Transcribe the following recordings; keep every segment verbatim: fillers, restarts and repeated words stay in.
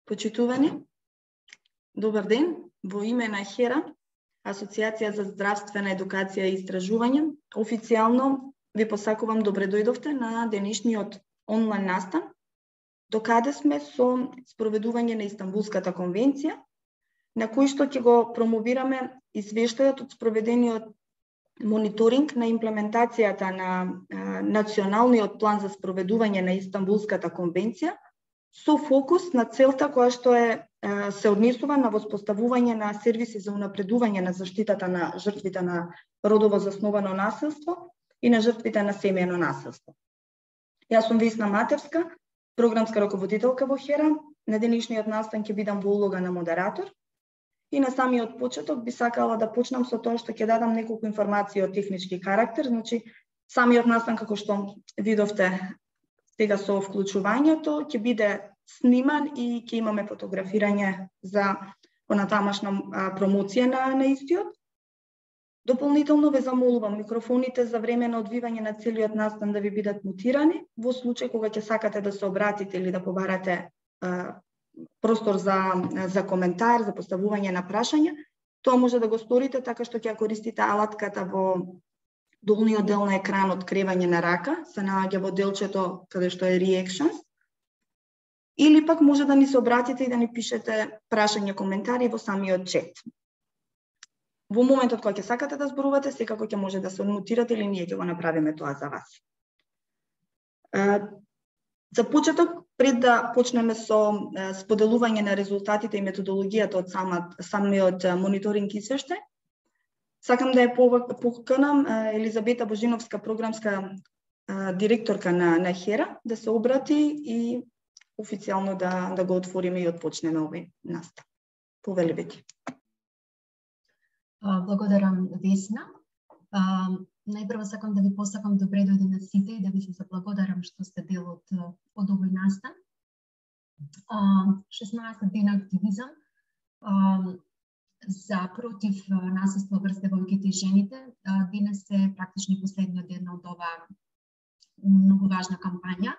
Почитувани, добар ден. Во име на ХЕРА, Асоциација за здравствена едукација и истражување, официјално ви посакувам добре дојдовте на денешниот онлайн настан, докаде сме со спроведување на Истанбулската конвенција, на кој што ќе го промовираме извештајот од спроведениот мониторинг на имплементацијата на а, националниот план за спроведување на Истанбулската конвенција, со фокус на целта која што е се однесува на воспоставување на сервиси за унапредување на заштитата на жртвите на родово засновано насилство и на жртвите на семејно насилство. Јас сум Весна Матевска, програмска раководителка во ХЕРА. На денешниот настан ќе бидам во улога на модератор и на самиот почеток би сакала да почнам со тоа што ќе дадам неколку информации од технички карактер. Значи, самиот настан, како што видовте сега со вклучувањето, ќе биде сниман и ќе имаме фотографирање за понатамашна промоција на, на истиот. Дополнително ве замолувам микрофоните за време на одвивање на целиот настан да ви бидат мутирани. Во случај кога ќе сакате да се обратите или да побарате а, простор за, за коментар, за поставување на прашања, тоа може да го сторите така што ќе користите алатката во долниот дел на екранот кревање на рака, се наоѓа во делчето каде што е Reactions, или пак може да ни се обратите и да ни пишете прашања, коментари во самиот чет. Во моментот кога ќе сакате да зборувате, секако ќе може да се онмутирате или ние ќе го направиме тоа за вас. За почеток, пред да почнеме со споделување на резултатите и методологијата од самиот мониторинг извештај, сакам да ја поканам Елизабета Божиновска, програмска директорка на, на ХЕРА, да се обрати и официјално да, да го отвориме и отпочнеме овој настан. Повелебете. Благодарам, Весна. Најпрво сакам да ви посакам добре дојде на сите и да ви се заблагодарам што сте дел од, од овој настан. шеснаесет дена активизам за против насилство врз девојките и жените. Денес е практично последниот ден од оваа многу важна кампања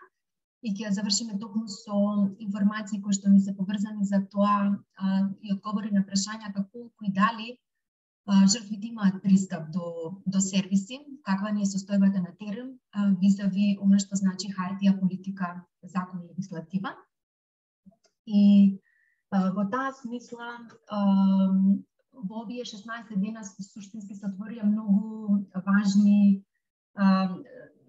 и ќе завршиме токму со информации кои што ни се поврзани за тоа а, и одговори на прашањата колку и дали а, жртвите имаат пристап до, до сервиси, каква ни е состојбата на терен визави она што значи хартија, политика, закон и легислатива. И а, во таа смисла а, во овие шеснаесет дена суштински се отворија многу важни а,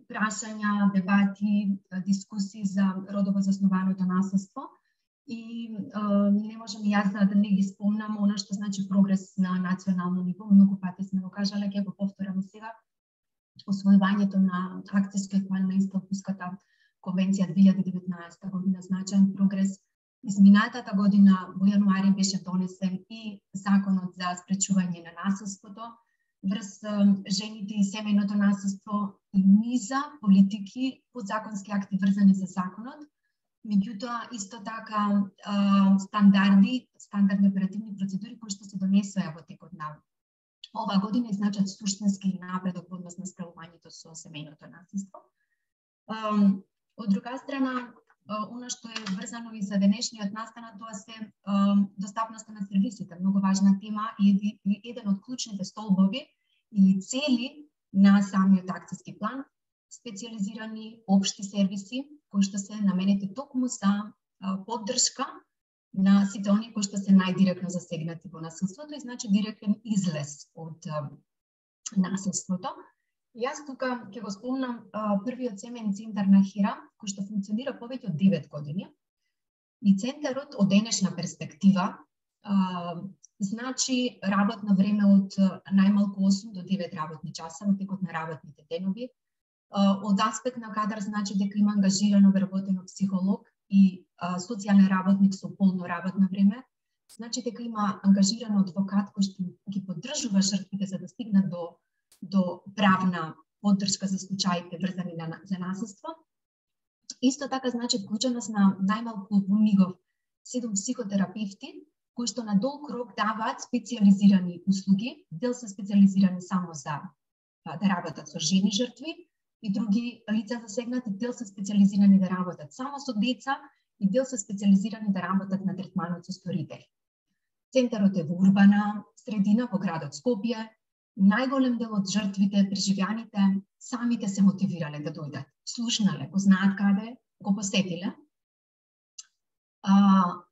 прашања, дебати, дискусии за родово заснованото насилство и е, не можам и јас да не ги спомнам она што значи прогрес на национално ниво. Многу пати сме го кажале, ќе го повторам сега. Освојувањето на акцијскиот план на Истанбулската конвенција две илјади и деветнаесета година значаен прогрес. Изминатата година во јануари беше донесен и законот за спречување на насилството врз жените и семејното насилство и низа политики, подзаконски акти врзани за законот. Меѓутоа, исто така стандарди, стандардни оперативни процедури кои што се донесоа во текот на оваа година и значат суштински напредок во однос на справувањето со семејното насилство. Од друга страна, она што е врзано и за денешниот настан, тоа се достапноста на сервисите, многу важна тема и еден од клучните столбови или цели на самиот акцијски план, специјализирани општи сервиси кои што се наменети токму за поддршка на сите оние кои што се најдиректно засегнати во насилството и значи директен излез од насилството. Јас тука ќе го спомнам а, првиот семеен центар на ХЕРА, кој што функционира повеќе од девет години. И центарот од денешна перспектива а, значи работно време од најмалку осум до девет работни часа во текот на работните денови. А, од аспект на кадар значи дека има ангажирано вработено психолог и а, социјален работник со полно работно време. Значи дека има ангажиран адвокат кој што ги поддржува жртвите за да стигнат до до правна поддршка за случаите врзани на, за насилство. Исто така значи вклученост на најмалку во мигов седум психотерапевти кои што на долг рок даваат специјализирани услуги, дел се специјализирани само за да работат со жени жртви и други лица засегнати, дел се специјализирани да работат само со деца и дел се специализирани да работат на третманот со сторители. Центарот е во урбана средина во градот Скопје. Најголем дел од жртвите, преживеаните, самите се мотивирале да дојдат. Слушнале, го знаат каде, го посетиле. А,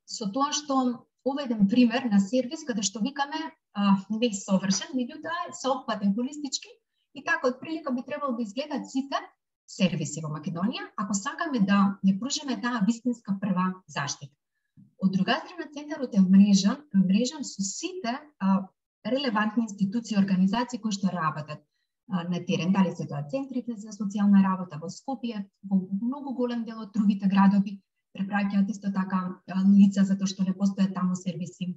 со тоа што ова е еден пример на сервис каде што викаме а, не совршен, меѓутоа е соопфатен холистички и така од прилика би требало да изгледат сите сервиси во Македонија, ако сакаме да ја пружиме таа вистинска прва заштита. Од друга страна, центарот е мрежан, мрежан со сите а, релевантни институции и организации кои што работат а, на терен, дали се тоа центрите за социјална работа во Скопје, во многу голем дел од другите градови, препраќаат исто така лица затоа што не постојат таму сервиси.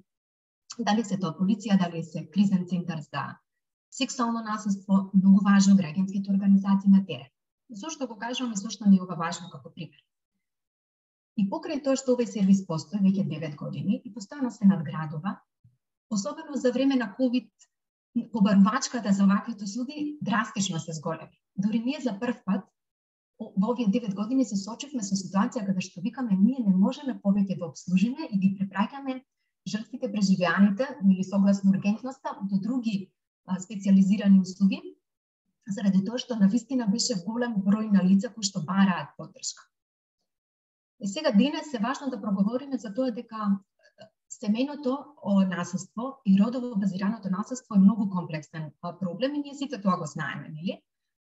Дали се тоа полиција, дали се кризен центар за сексуално насилство, многу важно граѓанските организации на терен. Зошто го кажувам и зошто ми е ова важно како пример? И покрај тоа што овој сервис постои веќе девет години и постојано се надградува, особено за време на ковид, побарувачката за ваквите услуги драстично се зголеми. Дори ние за прв пат во овие девет години се соочивме со ситуација каде што викаме ние не можеме повеќе да обслужиме и ги препраќаме жртвите, преживеаните или согласно ургентноста до други а, специализирани услуги, заради тоа што навистина беше голем број на лица кои што бараат поддршка. И сега денес е важно да проговориме за тоа дека семејното насилство и родово базираното насилство е многу комплексен проблем и ние сите тоа го знаеме, нели?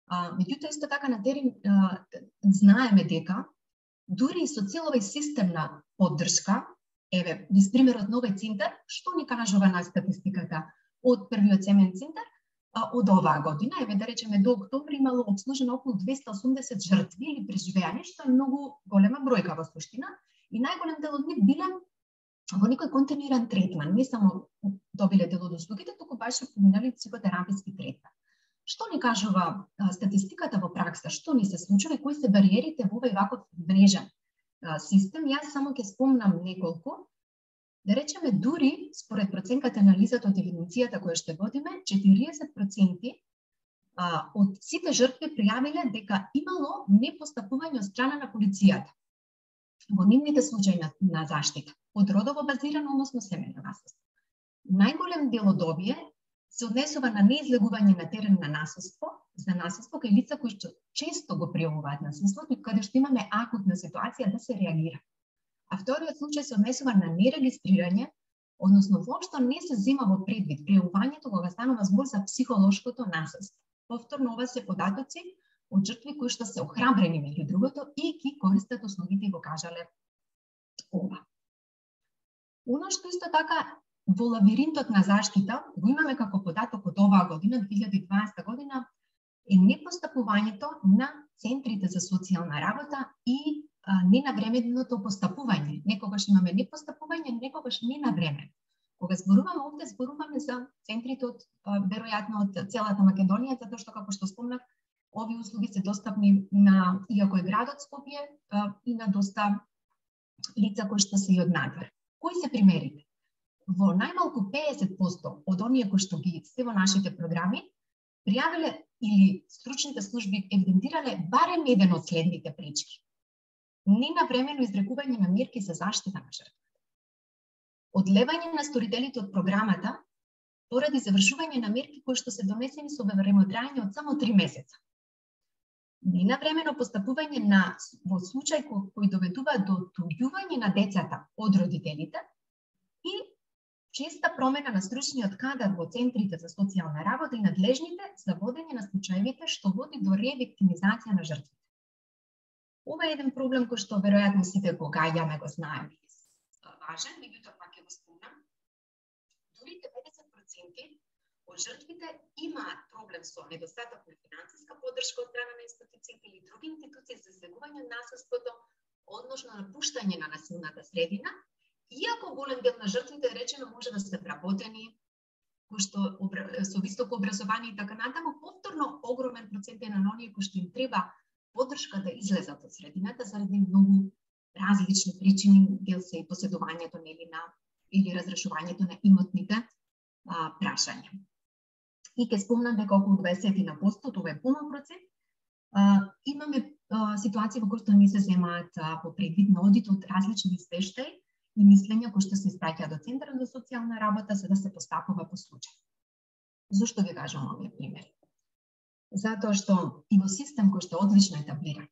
А, меѓутоа исто така на терен а, знаеме дека дури и со цел овој систем на поддршка, еве, низ примерот на овој центар, што ни кажува на статистиката од првиот семеен центар, а, од оваа година, еве да речеме до октомври имало обслужено околу двеста и осумдесет жртви или преживеани, што е многу голема бројка во суштина, и најголем дел од нив биле во некој континуиран третман, не само добиле дел од услугите, туку баш и поминали психотераписки третман. Што ни кажува а, статистиката во пракса, што ни се случува и кои се бариерите во овој ваков мрежен а, систем? Јас само ќе спомнам неколку. Да речеме, дури според проценката анализата од евиденцијата која што водиме, четириесет проценти а, од сите жртви пријавиле дека имало непостапување од страна на полицијата во нивните случаи на, на заштита од родово базирано, односно семејно насилство. Најголем дел од овие се однесува на неизлегување на терен на насилство, за насилство кај лица кои што често го пријавуваат насилството и каде што имаме акутна ситуација да се реагира. А вториот случај се однесува на нерегистрирање, односно воопшто не се зема во предвид пријавувањето кога станува збор за психолошкото насилство. Повторно ова се податоци од жртви кои што се охрабрени меѓу другото и ги користат услугите и го кажале ова. Оно што исто така во лавиринтот на заштита го имаме како податок од оваа година, две илјади и дваесета година, е непостапувањето на центрите за социјална работа и а, ненавременото постапување. Некогаш имаме непостапување, некогаш не на време. Кога зборуваме овде, зборуваме за центрите од а, веројатно од целата Македонија, затоа што како што спомнав, овие услуги се достапни на, иако е градот Скопје, а, и на доста лица кои што се и од надвор. Кои се примерите? Во најмалку педесет проценти од оние кои што ги се во нашите програми пријавиле или стручните служби евидентирале барем еден од следните пречки. Ненавремено изрекување на мерки за заштита на жртвата. Одлевање на сторителите од програмата поради завршување на мерки кои што се донесени со времетраење од само три месеца. Ненавремено постапување на во случај кој, кој доведува до туѓување на децата од родителите и честа промена на стручниот кадар во центрите за социјална работа и надлежните за водење на случаевите што води до ревиктимизација на жртвите. Ова е еден проблем кој што веројатно сите го гаѓаме, го знаеме. Важен, меѓутоа пак ќе го спомнам. Дури деветдесет проценти од жртвите имаат проблем со недостаток на финансиска поддршка од страна на институциите или други институции за излегување на насилството, односно напуштање на насилната средина. Иако голем дел на жртвите, речено, може да се вработени, кои што со високо образование и така натаму, повторно огромен процент е на оние кои што им треба поддршка да излезат од средината заради многу различни причини, дел се и поседувањето нели на или разрешувањето на имотните а, прашања. И ќе спомнам дека околу дваесет на сто, тоа е полн процент, а, имаме ситуации во кои што не се земаат по предвид на одит од различни извештаи и мислења кои што се испраќаат до Центарот за социјална работа за да се постапува по случај. Зошто ви кажам овие примери? Затоа што и во систем кој што е одлично етаблиран,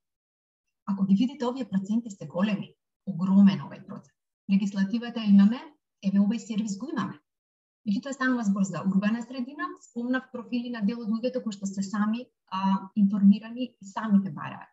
ако ги видите овие проценти се големи, огромен овој процент. Легислативата имаме, еве овој сервис го имаме. Меѓутоа станува збор за урбана средина, спомнав профили на дел од луѓето кои што се сами а, информирани и самите бараат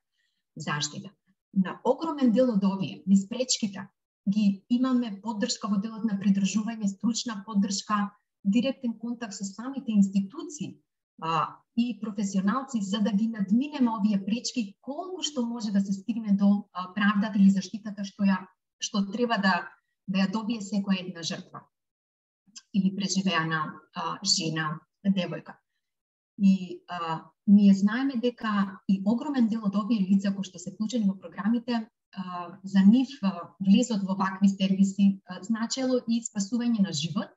заштита. На огромен дел од овие, низ пречките, ги имаме поддршка во делот на придржување, стручна поддршка, директен контакт со самите институции а, и професионалци за да ги надминеме овие пречки колку што може да се стигне до а, правдата или заштитата што ја што треба да да ја добие секоја една жртва или преживеана а, жена, девојка. И а, ние знаеме дека и огромен дел од овие лица кои што се вклучени во програмите, а, за нив а, влезот во вакви сервиси а, значело и спасување на живот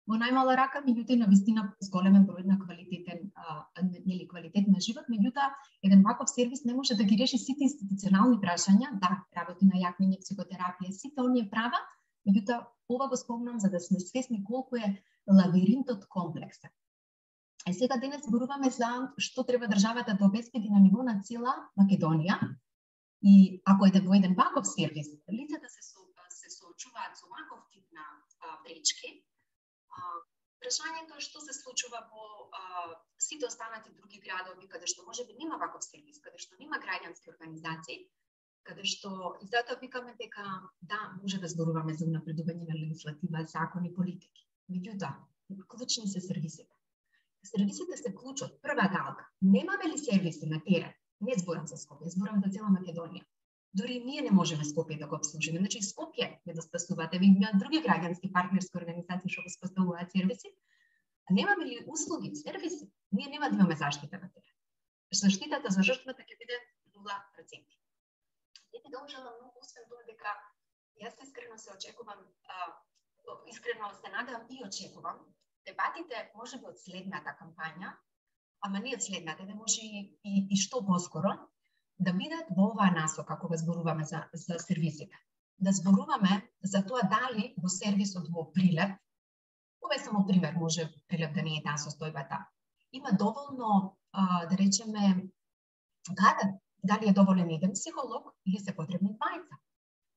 во најмала рака, меѓутоа на вистина зголемен број на квалитетен а, нели квалитет на живот, меѓутоа еден ваков сервис не може да ги реши сите институционални прашања, да, работи на јакнење, психотерапија, сите оние права, меѓутоа ова го спомнам за да сме свесни колку е лавиринтот комплексен. Е сега денес зборуваме за што треба државата да обезбеди на ниво на цела Македонија и ако е во еден ваков сервис, лицата се со, се соочуваат со ваков тип на а, пречки. А, прашањето е што се случува во а, сите останати други градови каде што можеби нема ваков сервис, каде што нема граѓански организации, каде што и затоа викаме дека да, може да зборуваме за унапредување на легислатива, закони, политики. Меѓутоа, клучни се сервисите. Сервисите се клучот, прва галка. Немаме ли сервиси на терен? Не зборам за Скопје, зборам за цела Македонија. Дори ние не можеме Скопје да го обслужиме. Значи Скопје не да спасувате, ви имаат други граѓански партнерски организации што го спасуваат сервиси. А немаме ли услуги, сервиси? Ние нема да имаме заштита на терен. Заштитата за жртвата ќе биде нула проценти. Не би должела многу, освен тоа дека јас искрено се очекувам, а, искрено се надевам и очекувам дебатите може би од следната кампања, ама не од следната, да може и, и, и што поскоро, да бидат во оваа насока кога зборуваме за, за сервисите. Да зборуваме за тоа дали во сервисот во Прилеп, ова е само пример, може Прилеп да не е таа состојбата, има доволно, а, да речеме, кадар. Дали е доволен еден психолог или се потребни двајца?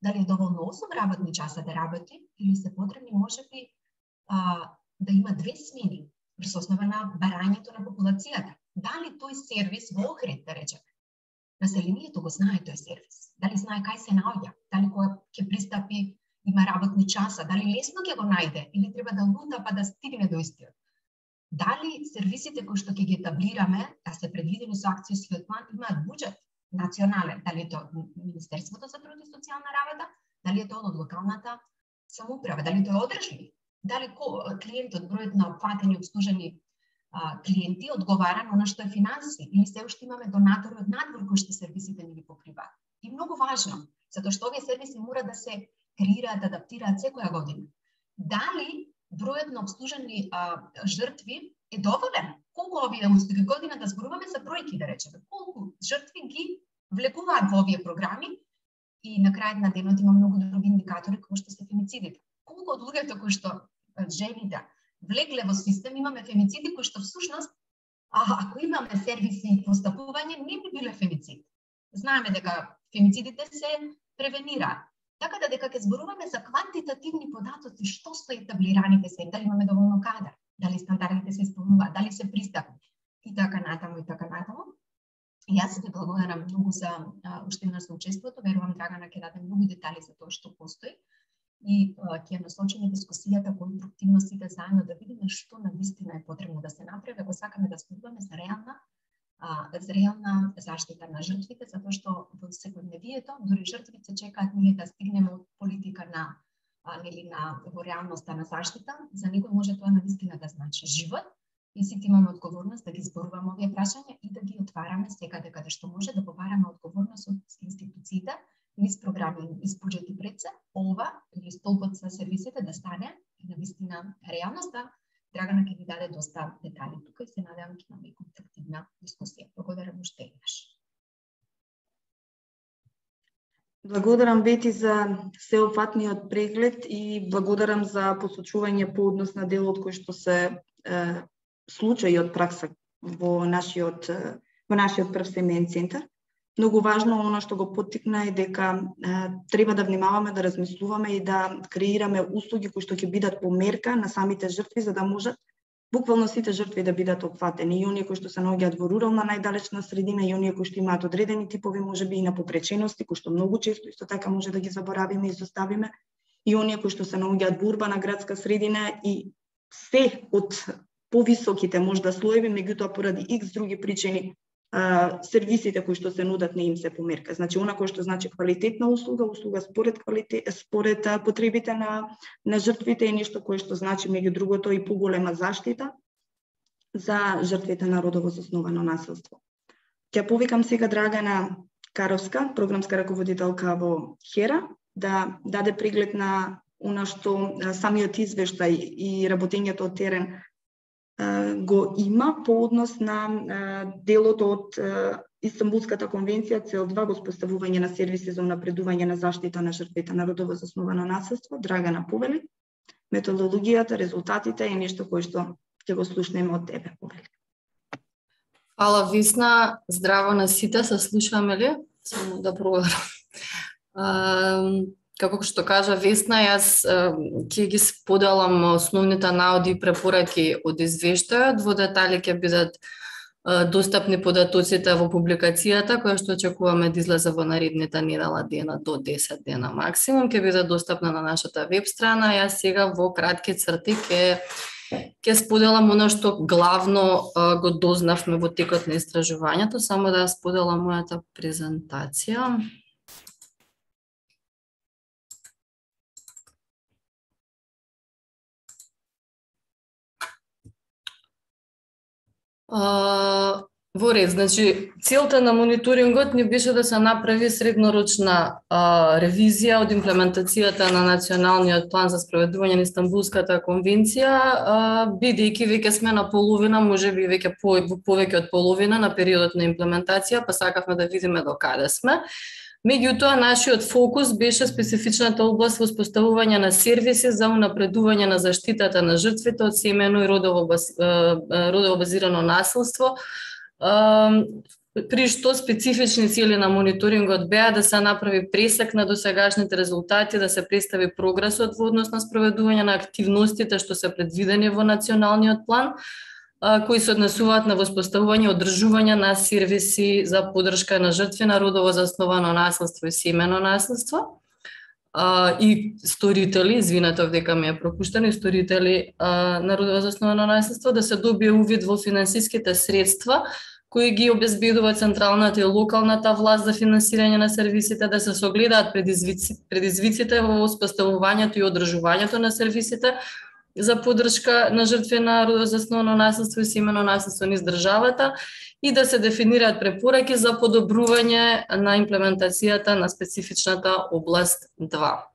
Дали е доволно осум работни часа да работи или се потребни можеби а, да има две смени врз основа на барањето на популацијата? Дали тој сервис во Охрид, да речеме, населението го знае тој сервис? Дали знае кај се наоѓа? Дали кој ќе пристапи има работни часа? Дали лесно ќе го најде или треба да лута па да стигне до истиот? Дали сервисите кои што ќе ги етаблираме, да се предвидени со акцијски план, имаат буџет национален, дали е тоа Министерството за труд и социјална работа, дали е тоа од локалната самоуправа, дали тоа е одржливо, дали клиентот, бројот на опфатени, обслужени а, клиенти одговара на она што е финанси, или се уште имаме донатори од надвор кои што сервисите не ги покриваат. И многу важно, затоа што овие сервиси мора да се креираат, адаптираат секоја година. Дали бројот на обслужени а, жртви е доволен? Колку овие услуги година да зборуваме за бројки, да речеме, колку жртви ги влекуваат во овие програми и на крајот на денот има многу други индикатори кои што се фемицидите. Колку од луѓето кои што жените влегле во систем имаме фемициди кои што всушност а, ако имаме сервиси и постапување не би биле фемицид. Знаеме дека фемицидите се превенираат. Така да дека ќе зборуваме за квантитативни податоци, што се етаблираните се, дали имаме доволно кадар, дали стандардите се исполнуваат, дали се пристапни и така натаму и така натаму. И јас ви благодарам многу за уште на соучеството, верувам Драгана ќе даде многу детали за тоа што постои и ќе насочиме дискусијата конструктивно сите заедно да видиме што навистина е потребно да се направи, ако сакаме да зборуваме за реална за реална заштита на жртвите, затоа што во секојдневието дури жртвите чекаат ние да стигнеме од политика на нели на во реалноста на заштита. За некој може тоа навистина да значи живот и сите имаме одговорност да ги зборуваме овие прашања и да ги отвараме секаде каде што може да побараме одговорност од институциите, низ програми, низ буџети пред се, ова или столбот за сервисите да стане навистина реалноста. Драгана ќе ви даде доста детали тука и се надевам ќе имаме конструктивна дискусија. Благодарам уште еднаш. Благодарам, Бети, за сеопфатниот преглед и благодарам за посочување по однос на делот кој што се е, случаи од пракса во нашиот, во нашиот прв семеен центар. Многу важно, оно што го поттикна е дека е, треба да внимаваме, да размислуваме и да креираме услуги кои што ќе бидат по мерка на самите жртви, за да можат буквално сите жртви да бидат опфатени, и оние кои што се наоѓаат во рурална најдалечна средина, и оние кои што имаат одредени типови можеби и на попречености, кои што многу често исто така може да ги заборавиме и изоставиме, и оние кои што се наоѓаат во урбана градска средина и се од повисоките можда слоеви, меѓутоа поради икс други причини сервисите кои што се нудат не им се померка. Значи, она кој што значи квалитетна услуга, услуга според квалитет, според потребите на на жртвите, е нешто кое што значи меѓу другото и поголема заштита за жртвите на родово засновано насилство. Ќе повикам сега Драгана Каровска, програмска раководителка во ХЕРА, да даде преглед на она што самиот извештај и работењето од терен го има по однос на делот од Истанбулската конвенција цел два, го споставување на сервиси за унапредување на заштита на жртвите на родово засновано насилство. Драгана, повели, методологијата, резултатите е нешто кое што ќе го слушнеме од тебе, повели. Фала, Весна, здраво на сите, се слушаме ли? Само да проверам. Како што кажа Весна, јас ќе ги споделам основните наоди и препораки од извештајот. Во детали ќе бидат достапни податоците во публикацијата, која што очекуваме да излезе во наредните недела дена до десет дена максимум, ќе биде достапна на нашата веб страна. Јас сега во кратки црти ќе ќе споделам оно што главно го дознавме во текот на истражувањето, само да споделам мојата презентација. Uh, во ред, значи, целта на мониторингот ни беше да се направи среднорочна uh, ревизија од имплементацијата на Националниот план за спроведување на Истанбулската конвенција, uh, бидејќи веќе сме на половина, можеби веќе по, повеќе од половина на периодот на имплементација, па сакавме да видиме до каде сме. Меѓутоа, нашиот фокус беше специфичната област во споставување на сервиси за унапредување на заштитата на жртвите од семејно и родово, родово базирано насилство, при што специфични цели на мониторингот беа да се направи пресек на досегашните резултати, да се представи прогресот во однос на спроведување на активностите што се предвидени во националниот план, кои се однесуваат на воспоставување и одржување на сервиси за поддршка на жртви на родово засновано насилство и семено насилство, и сторители, извинете, овдека ми е пропуштено, и сторители на родово засновано насилство, да се добие увид во финансиските средства кои ги обезбедува централната и локалната власт за финансирање на сервисите, да се согледаат предизвици, предизвиците во воспоставувањето и одржувањето на сервисите за поддршка на жртви на родово засновано насилство и семено насилство низ државата, и да се дефинираат препораки за подобрување на имплементацијата на специфичната област два.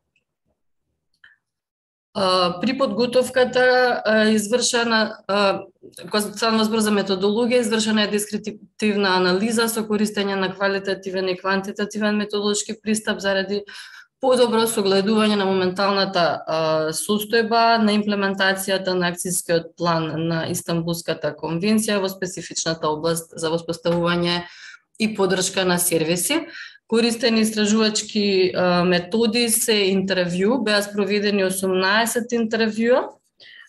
При подготовката извршена, кога само збор за методологија, извршена е дескриптивна анализа со користење на квалитативен и квантитативен методолошки пристап заради подобро согледување на моменталната а, состојба на имплементацијата на акцијскиот план на Истанбулската конвенција во специфичната област за воспоставување и поддршка на сервиси. Користени истражувачки а, методи се интервју, беа спроведени осумнаесет интервјуа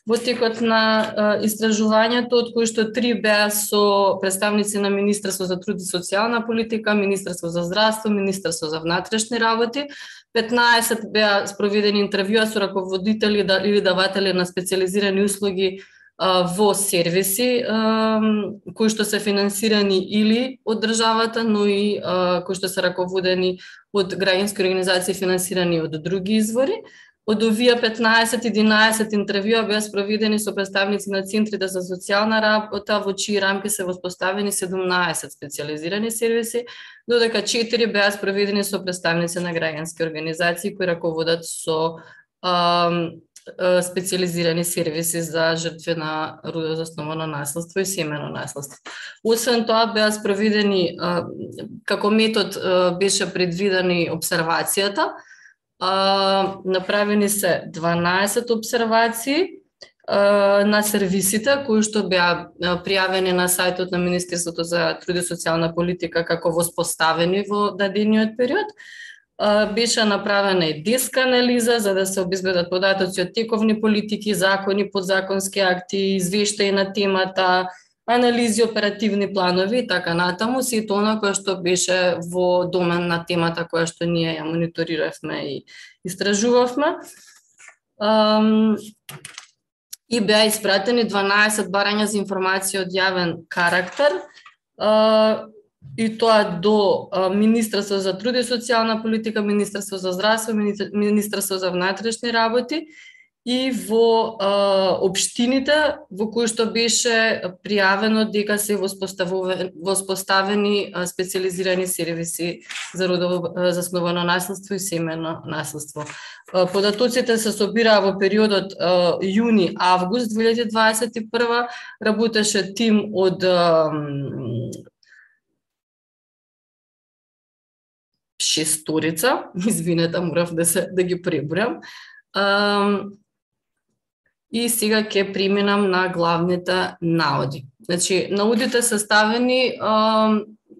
во текот на а, истражувањето, од кои што три беа со представници на Министерство за труд и социјална политика, Министерство за здравство, Министерство за внатрешни работи. петнаесет беа спроведени интервјуа со раководители или даватели на специјализирани услуги а, во сервиси, а, кои што се финансирани или од државата, но и а, кои што се раководени од граѓански организации финансирани од други извори. Од овие петнаесет единаесет интервјуа беа спроведени со представници на центрите за социјална работа, во чии рамки се воспоставени седумнаесет специјализирани сервиси, додека четири беа спроведени со представници на граѓански организации кои раководат со а, специализирани сервиси за жртви на родово засновано наследство и семено наследство. Освен тоа, беа спроведени, како метод беше предвидени обсервацијата, направени се дванаесет обсервации на сервисите кои што беа пријавени на сајтот на Министерството за труд и социјална политика како воспоставени во дадениот период. Беше направена и деска анализа за да се обезбедат податоци од тековни политики, закони, подзаконски акти, извештаи на темата, анализи, оперативни планови и така натаму, сето она кое што беше во домен на темата која што ние ја мониториравме и истражувавме. И беа испратени дванаесет барања за информација од јавен карактер, и тоа до Министерство за труд и социјална политика, Министерство за здравство, Министерство за внатрешни работи и во општините во кои што беше пријавено дека се воспоставени специализирани сервиси за родово засновано наследство и семено наследство. Податоците се собираа во периодот јуни-август две илјади дваесет и прва, работеше тим од шесторица, извинете, морав да се да ги пребројам. И сега ќе преминам на главните наоди. Значи, наодите се ставени,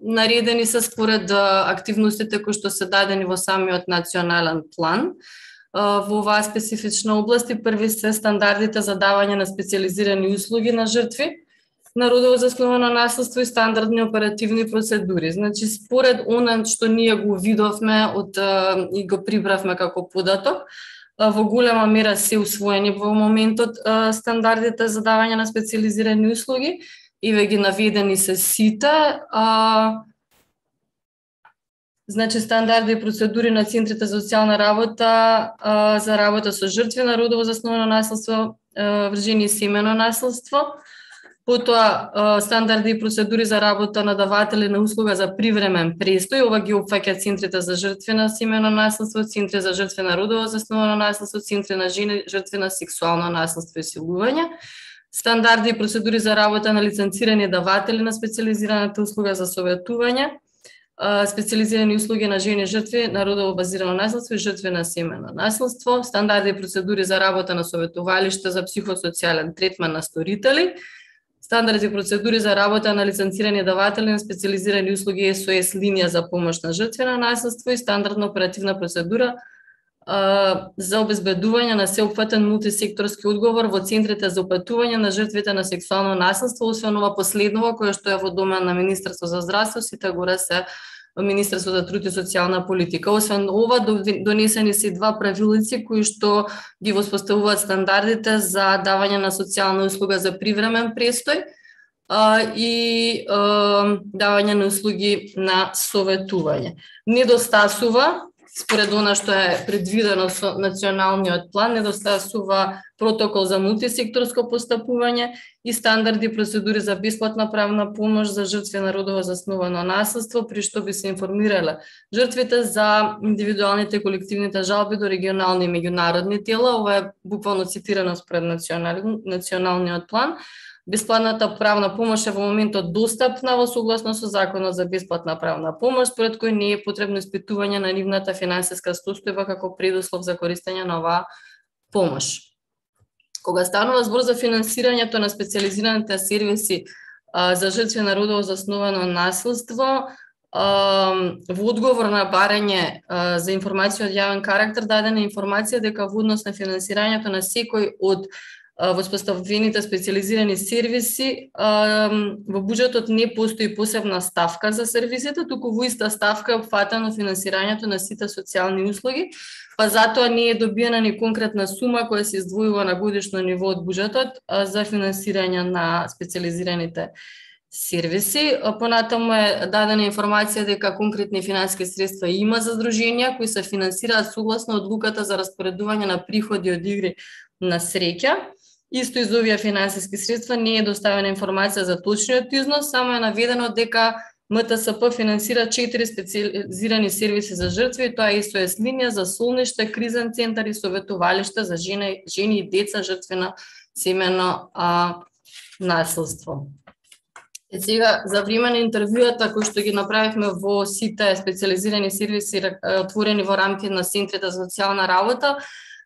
наредени се според активностите кои што се дадени во самиот национален план. Во оваа специфична област и први се стандардите за давање на специализирани услуги на жртви на родово засновано наследство и стандардни оперативни процедури. Значи, според она што ние го видовме од, и го прибравме како податок, во голема мера се усвоени во моментот стандардите за давање на специализирани услуги и ве ги наведени се сите. Значи, стандарди и процедури на центрите за социјална работа за работа со жртви на родово засновано наследство, вржени и семено наследство. Потоа стандарди и процедури за работа на даватели на услуга за привремен престој, ова ги опфаќа центрите за жртви на семено наследство, центри за жртви на родово засновано наследство, центри на жени жртви на сексуално наследство и силување. Стандарди и процедури за работа на лиценцирани даватели на специализираната услуга за советување, специализирани услуги на жени жртви на родово базирано наследство и жртви на семено наследство, стандарди и процедури за работа на советувалишта за психосоцијален третман на сторители, стандарди и процедури за работа на лиценцирани даватели на специализирани услуги ес о ес линија за помош на жртви на наследство и стандардна оперативна процедура а, за обезбедување на сеопфатен мултисекторски одговор во центрите за опатување на жртвите на сексуално наследство, освен ова последново кое што е во домен на Министерство за здравство, сите горе се Министерство за труд и социјална политика. Освен ова, донесени се два правилници кои што ги воспоставуваат стандардите за давање на социјална услуга за привремен престој а, и а, давање на услуги на советување. Недостасува, според она што е предвидено со националниот план, недостасува протокол за мултисекторско постапување и стандарди и процедури за бесплатна правна помош за жртви на родово засновано наследство, при што би се информирале жртвите за индивидуалните и колективните жалби до регионални и меѓународни тела. Ова е буквално цитирано според националниот план. Бесплатната правна помош е во моментот достапна во согласно со Законот за бесплатна правна помош, според кој не е потребно испитување на нивната финансиска состојба како предуслов за користење на оваа помош. Кога станува збор за финансирањето на специализираните сервиси а, за жртви на родово засновано наследство, а, во одговор на барање а, за информација од јавен карактер дадена информација дека во однос на финансирањето на секој од воспоставените специализирани сервиси, во буџетот не постои посебна ставка за сервисите, туку во иста ставка е опфатено финансирањето на сите социјални услуги, па затоа не е добиена ни конкретна сума која се издвојува на годишно ниво од буџетот за финансирање на специализираните сервиси. Понатаму е дадена информација дека конкретни финансиски средства има за здруженија кои се финансираат согласно одлуката за распоредување на приходи од игри на среќа. Исто из овие финансиски средства не е доставена информација за точниот износ, само е наведено дека М Т С П финансира четири специализирани сервиси за жртви, тоа е С О С линија за солниште, кризен центар и советувалиште за жени, жени и деца жртви на семено а, насилство. И сега, за време на интервјуата кои што ги направивме во сите специализирани сервиси отворени во рамки на центрите за социјална работа,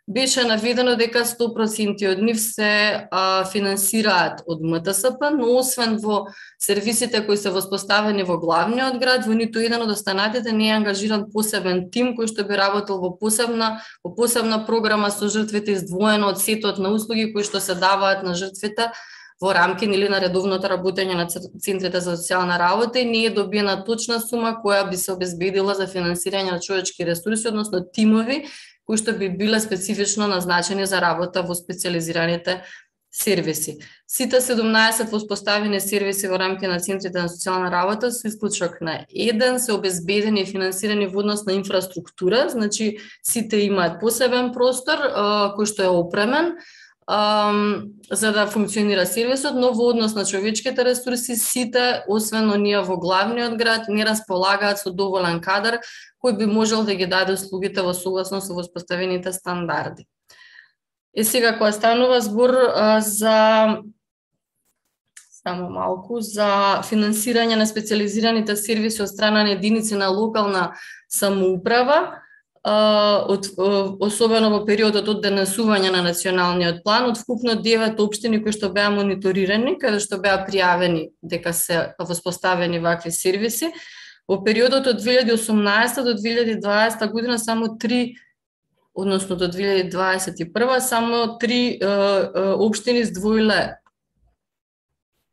беше наведено дека сто проценти од нив се а, финансираат од М Т С П, но освен во сервисите кои се воспоставени во главниот град, во ниту еден од останатите не е ангажиран посебен тим кој што би работел во посебна, во посебна програма со жртвите, издвоено од сетот на услуги кои што се даваат на жртвите во рамки или на редовното работење на центрите за социјална работа и не е добиена точна сума која би се обезбедила за финансирање на човечки ресурси, односно тимови кои што би биле специфично назначени за работа во специализираните сервиси. Сите седумнаесет воспоставени сервиси во рамки на центрите на социјална работа со исклучок на еден се обезбедени и финансирани во однос на инфраструктура, значи сите имаат посебен простор кој што е опремен Um, за да функционира сервисот, но во однос на човечките ресурси сите, освен оние во главниот град, не располагаат со доволен кадар кој би можел да ги даде услугите во согласно со воспоставените стандарди. И сега кога станува збор а, за само малку за финансирање на специализираните сервиси од страна на единици на локална самоуправа, Од, особено во периодот од денесување на националниот план, од вкупно девет општини кои што беа мониторирани, каде што беа пријавени дека се воспоставени вакви сервиси, во периодот од две илјади и осумнаесета до две илјади и дваесета година само три, односно до две илјади дваесет и прва, само три е, е, општини издвоиле,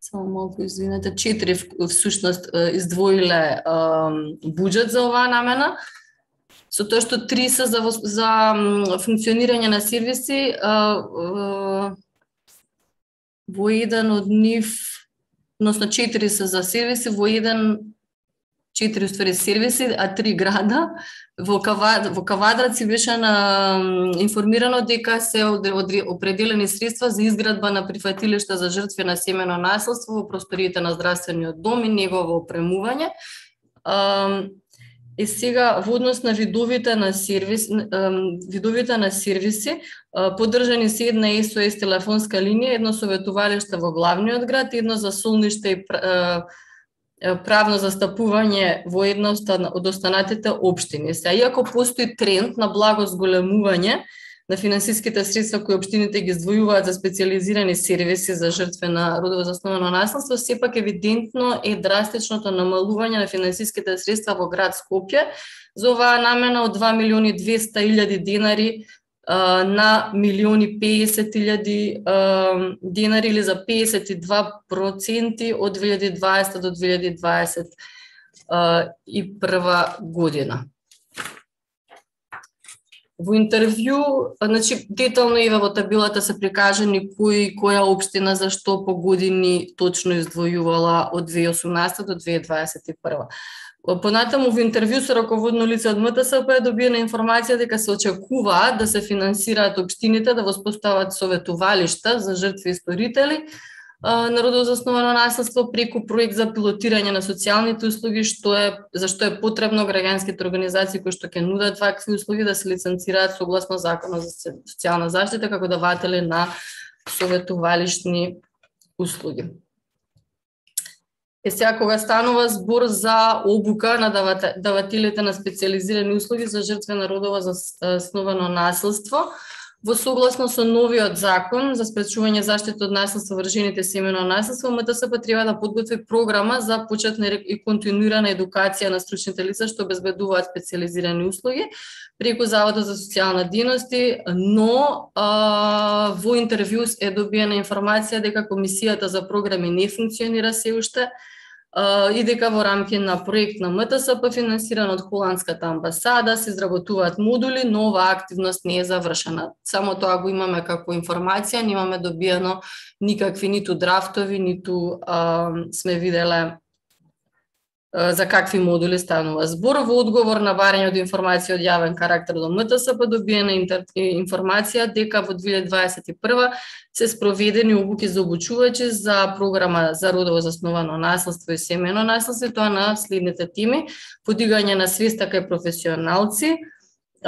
само малку извинете, четири всушност издвоиле е, буџет за оваа намена, со тоа што три се за, за функционирање на сервиси, а, а, во еден од нив, односно четири се за сервиси, во еден, четири уствари сервиси, а три града. Во, Кава, во Кавадраци беше на, информирано дека се определени средства за изградба на прифатилишта за жртви на семено насилство во просториите на здравствениот дом и негово опремување. А, И сега во однос на видовите на сервис, видовите на сервиси, поддржани се една С О С телефонска линија, едно советувалиште во главниот град, едно за солниште и правно застапување во една од останатите општини. Се, иако постои тренд на благо зголемување на финансиските средства кои општините ги издвојуваат за специализирани сервиси за жртви на родово засновано насилство, сепак евидентно е драстичното намалување на финансиските средства во град Скопје за оваа намена од два милиони и двесте илјади денари а, на милиони песет илјади денари или за песет и два проценти од две илјади и дваесета до две илјади и дваесет и прва година. Во интервју, значи, детално и во табелата се прикажани кој која општина за што по години точно издвојувала од две илјади и осумнаесета до две илјади дваесет и прва. Понатаму во интервју со раководно лице од М Т С П е добиена информација дека се очекуваат да се финансираат општините да воспостават советувалишта за жртви и сторители на родово засновано насилство преку проект за пилотирање на социјалните услуги, што е за што е потребно граѓанските организации кои што ќе нудат вакви услуги да се лиценцираат согласно Законот за социјална заштита како даватели на советувалишни услуги. Е сега кога станува збор за обука на давателите на специализирани услуги за жртви на родово засновано насилство, во согласно со новиот закон за спречување заштита од насилство врз жените и семено насилство, М Т С П треба да подготви програма за почетна и континуирана едукација на стручните лица што обезбедуваат специализирани услуги преку Заводот за социјална дејност, но а, во интервју е добиена информација дека комисијата за програми не функционира се уште и дека во рамки на проект на М Т С П финансиран од холандската амбасада се изработуваат модули, но оваа активност не е завршена. Само тоа го имаме како информација, немаме добиено никакви ниту драфтови, ниту а, сме виделе за какви модули станува збор. Во одговор на барање од информација од јавен карактер до М Т С П добиена информација дека во две илјади дваесет и прва се спроведени обуки за обучувачи за програма за родово засновано наследство и семејно наследство, тоа на следните теми: подигање на свеста кај професионалци.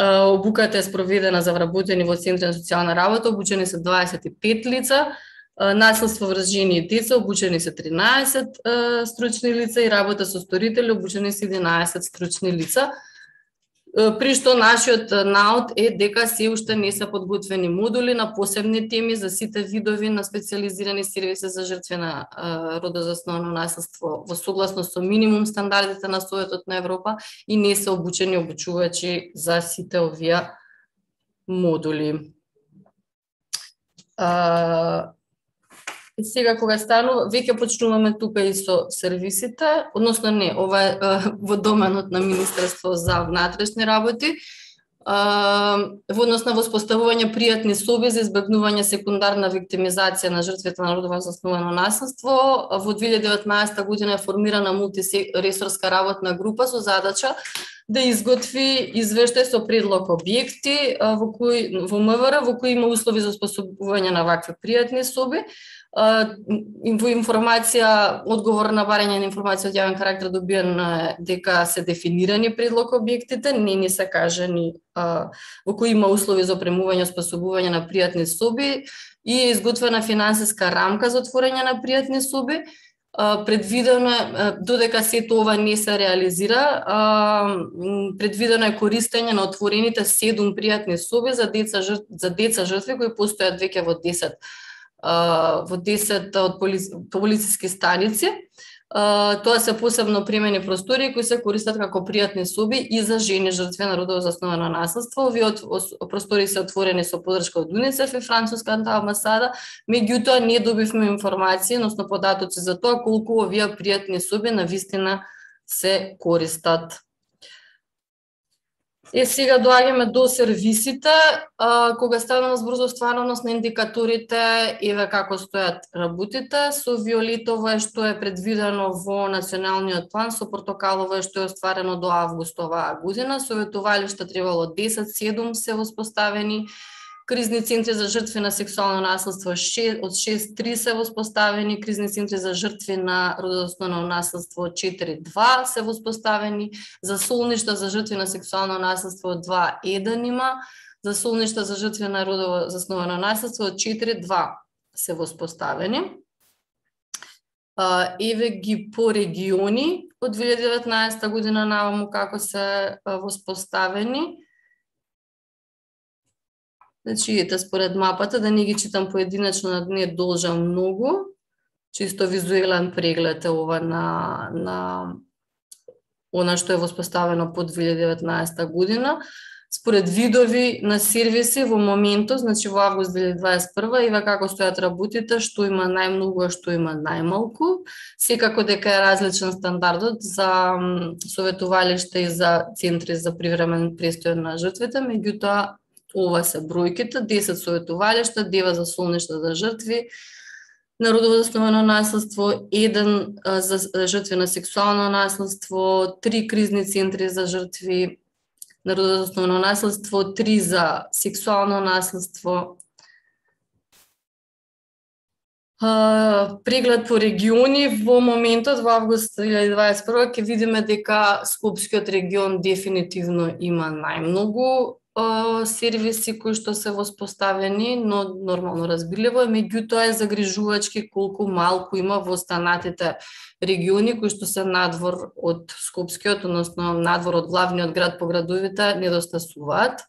Обуката е спроведена за вработени во центри на социјална работа, обучени се дваесет и пет лица. Наследство врз жени и деца, обучени се тринаесет uh, стручни лица и работа со сторители, обучени се единаесет стручни лица. Uh, при што нашиот наод е дека се уште не се подготвени модули на посебни теми за сите видови на специализирани сервиси за жртви на uh, родозасновано наследство во согласно со минимум стандардите на Советот на Европа и не се обучени обучувачи за сите овие модули. Uh, И сега кога станува, веќе почнуваме тука и со сервисите, односно не, ова е во доменот на Министерство за внатрешни работи, во однос на воспоставување пријатни соби за избегнување секундарна виктимизација на жртвите на родово засновано наследство. Во две илјади и деветнаесета година е формирана мултиресорска работна група со задача да изготви извештај со предлог објекти во кои во М В Р во кои има услови за способување на вакви пријатни соби. Во информација, одговор на барање на информација од јавен карактер добиен дека се дефинирани предлог објектите, не ни се кажани во кои има услови за опремување и способување на пријатни соби и е изготвена финансиска рамка за отворање на пријатни соби. Предвидено е, додека сето ова не се реализира, предвидено е користење на отворените седум пријатни соби за деца за деца жртви кои постојат веќе во десет во десет од полициски станици. Тоа се посебно примени простори кои се користат како пријатни соби и за жени жртви на родово засновано наследство. Овие простори се отворени со поддршка од УНИЦЕФ и француската амбасада, меѓутоа не добивме информација, односно податоци за тоа колку овие пријатни соби навистина се користат. Е, сега доаѓаме до сервисите, а, кога станува збор за оствареност на индикаторите, еве како стојат работите. Со виолетово е што е предвидено во националниот план, со портокалово е што е остварено до август оваа година. Советувалишта требало десет седум се воспоставени, кризни центри за жртви на сексуално наследство од шест три се воспоставени, кризни центри за жртви на родозасновано наследство од четири два се воспоставени, за солништа за жртви на сексуално наследство од два еден има, за солништа за жртви на родово засновано наследство од четири два се воспоставени. Еве ги по региони од две илјади и деветнаесета година наваму како се воспоставени. Значи, ете според мапата, да не ги читам поединечно, не должам многу, чисто визуелен преглед е ова на, на она што е воспоставено по две илјади и деветнаесета година. Според видови на сервиси во моментот, значи во август две илјади дваесет и прва, еве како стојат работите, што има најмногу, а што има најмалку. Секако дека е различен стандардот за советувалишта и за центри за привремен престој на жртвите, меѓутоа ова се бројките: десет советувалишта, девет за солништа за жртви на родово засновано наследство, еден за жртви на сексуално наследство, три кризни центри за жртви на родово засновано наследство, три за сексуално наследство. Преглед по региони во моментот во август две илјади дваесет и прва ќе видиме дека Скопскиот регион дефинитивно има најмногу сервиси кои што се воспоставени, но нормално разбирливо е, меѓутоа е загрижувачки колку малку има во останатите региони кои што се надвор од Скопскиот, односно надвор од главниот град по градовите, недостасуваат.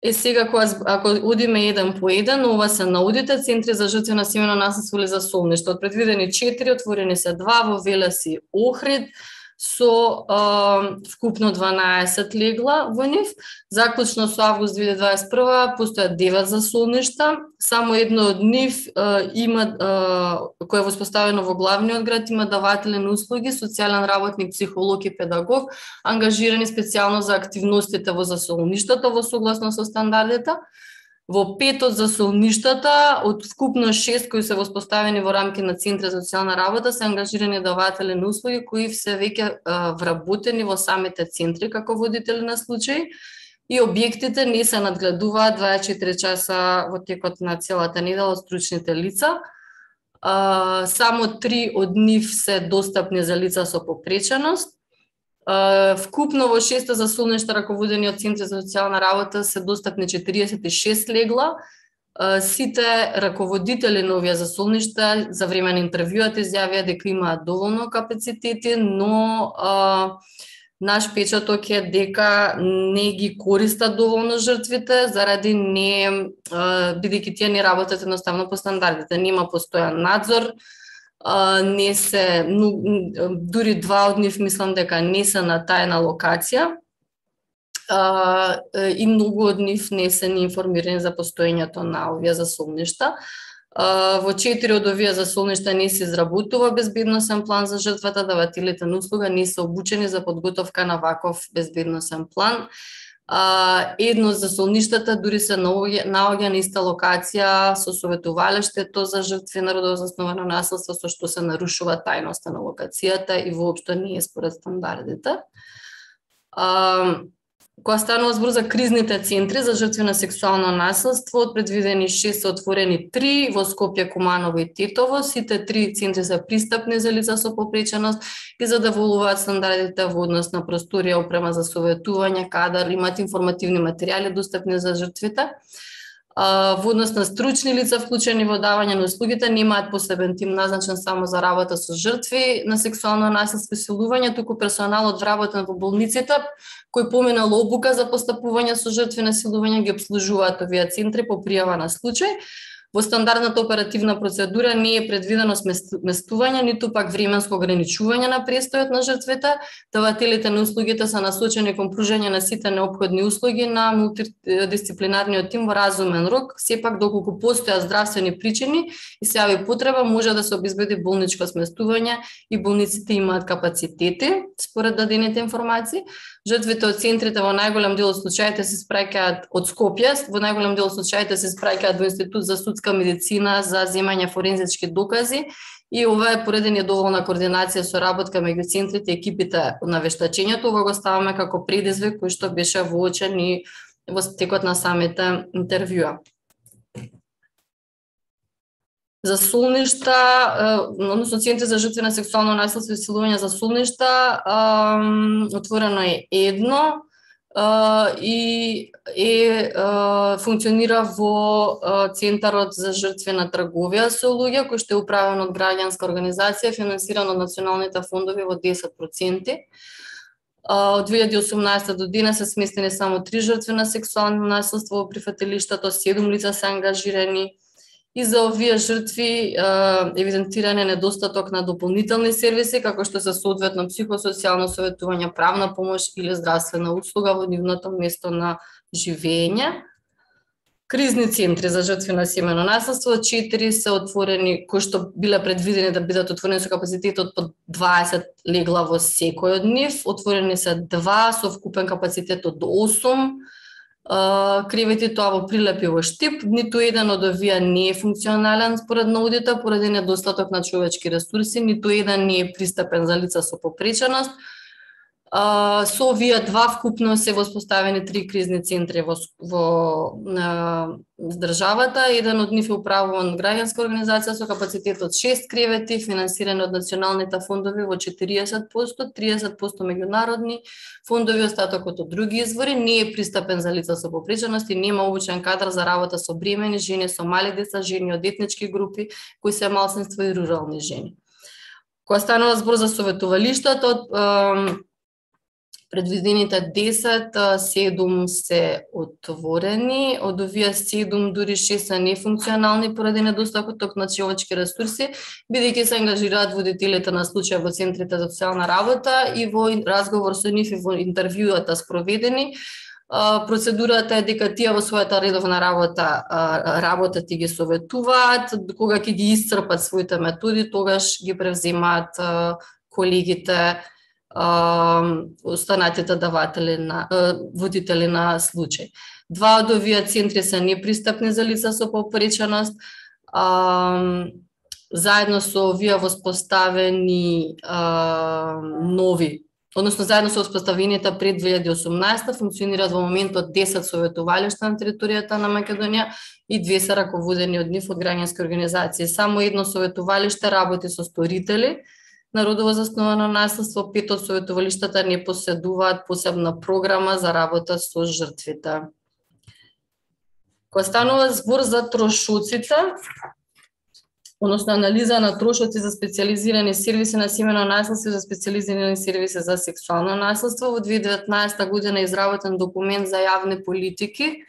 Е сега, ако одиме еден по еден, ова се наудите центри за жртви на семејно наследство или за солништа. Од предвидени четири, отворени се два во Велес и Охрид, со а, вкупно дванаесет легла во нив. Заклучно со август две илјади дваесет и прва постојат девет за солништа, само едно од нив а, има, а, кое е воспоставено во главниот град, има даватели на услуги, социјален работник, психолог и педагог, ангажирани специјално за активностите во засолништата во согласно со стандардите. Во пет од засолништата, од вкупно шест кои се воспоставени во рамки на Центри за социјална работа, се ангажирани даватели на услуги кои се веќе вработени во самите центри како водители на случаи и објектите не се надгледуваат дваесет и четири часа во текот на целата недела од стручните лица. Uh, само три од нив се достапни за лица со попреченост. Uh, вкупно во шест засолништа раководени од Центри за социјална работа се достапни четириесет и шест легла. Uh, сите раководители на овие засолништа за време на интервјуата изјавија дека имаат доволно капацитети, но uh, наш печаток е дека не ги користат доволно жртвите, заради не, бидејќи тие не работат едноставно по стандардите. Нема постојан надзор, не се, дури два од нив мислам дека не се на тајна локација и многу од нив не се ни информирани за постоењето на овие засолништа. Во четири од овие засолништа не се изработува безбедносен план за жртвата, давателите на услуга не се обучени за подготовка на ваков безбедносен план. Едно од засолништата дури се наоѓа на иста локација со советувалиштето за жртви на родово засновано насилство, со што се нарушува тајноста на локацијата и воопшто не е според стандардите. Кога станува збор за кризните центри за жртви на сексуално насилство, од предвидени шест се отворени три во Скопје, Куманово и Тетово. Сите три центри се пристапни за лица со попреченост и задоволуваат стандардите во однос на просторија, опрема за советување, кадар, имаат информативни материјали достапни за жртвите. Во однос на стручни лица вклучени во давање на услугите, немаат посебен тим назначен само за работа со жртви на сексуално насилство и силување, туку персоналот вработен во болниците, кој поминал обука за постапување со жртви на силување, ги обслужуваат овие центри по пријава на случај. Во стандардната оперативна процедура не е предвидено сместување, ниту пак временско ограничување на престојот на жртвите. Давателите на услугите се насочени кон пружање на сите неопходни услуги на мултидисциплинарниот тим во разумен рок. Сепак, доколку постојат здравствени причини и се јави потреба, може да се обезбеди болничко сместување и болниците имаат капацитети, според дадените информации. Жртвите од центрите во најголем дел од случаите се спраќаат од Скопје, во најголем дел од случаите се спраќаат во Институт за судска медицина за земање форензички докази и ова е пореден доволна координација со работка меѓу центрите и екипите на вештачењето. Ова го ставаме како предизвик кој што беше воочен и во текот на самите интервјуа. Засолништа, односно центри за жртви на сексуално насилство и силување засолништа, отворено е едно и е функционира во Центарот за жртви на трговија со луѓе, кој што е управен од граѓанска организација, финансиран од националните фондови во десет проценти. Од две илјади и осумнаесета до денес се сместени само три жртви на сексуално насилство во прифатилиштето, седум лица се ангажирани. И за овие жртви евидентиран е недостаток на дополнителни сервиси, како што се соодветно психосоцијално советување, правна помош или здравствена услуга во нивното место на живење. Кризни центри за жртви на семејно насилство, четири се отворени, кои што биле предвидени да бидат отворени со капацитет од по дваесет легла во секој од нив. Отворени се два со вкупен капацитет од осум. Кревети, тоа во Прилеп и во Штип. Ниту еден од овие не е функционален според наудите поради недостаток на човечки ресурси, ниту еден не е пристапен за лица со попреченост. Со овие два вкупно се воспоставени три кризни центри во, во на, државата. Еден од нив е управуван граѓанска организација со капацитет од шест кревети, финансирани од националните фондови во четириесет проценти, триесет проценти меѓународни фондови, остатокот од други извори. Не е пристапен за лица со попреченост и нема обучен кадар за работа со бремени жени, со мали деца, жени од етнички групи, кои се малцинства и рурални жени. Кога станува збор за советувалиштата, предвидените десет, седум се отворени, од овие седум дури шест се нефункционални поради недостаток на човечки ресурси, бидејќи се ангажираат водителите на случаи во центрите за социјална работа и во разговор со нив и во интервјуата спроведени. Процедурата е дека тие во својата редовна работа работат и ги советуваат, кога ќе ги исцрпат своите методи, тогаш ги превземаат колегите останатите даватели на водители на случај. Два од овие центри се непристапни за лица со попреченост. Заедно со овие воспоставени нови, односно заедно со воспоставените пред две илјади и осумнаесета функционираат во моментот десет советувалишта на територијата на Македонија и две се раководени од нив од граѓански организации. Само едно советувалиште работи со сторители на родово засновано наследство, пет од советувалиштата не поседуваат посебна програма за работа со жртвите. Кога станува збор за трошоците, односно анализа на трошоци за специјализирани сервиси на семејно наследство и за специјализирани сервиси за сексуално наследство, во две илјади и деветнаесета година е изработен документ за јавни политики,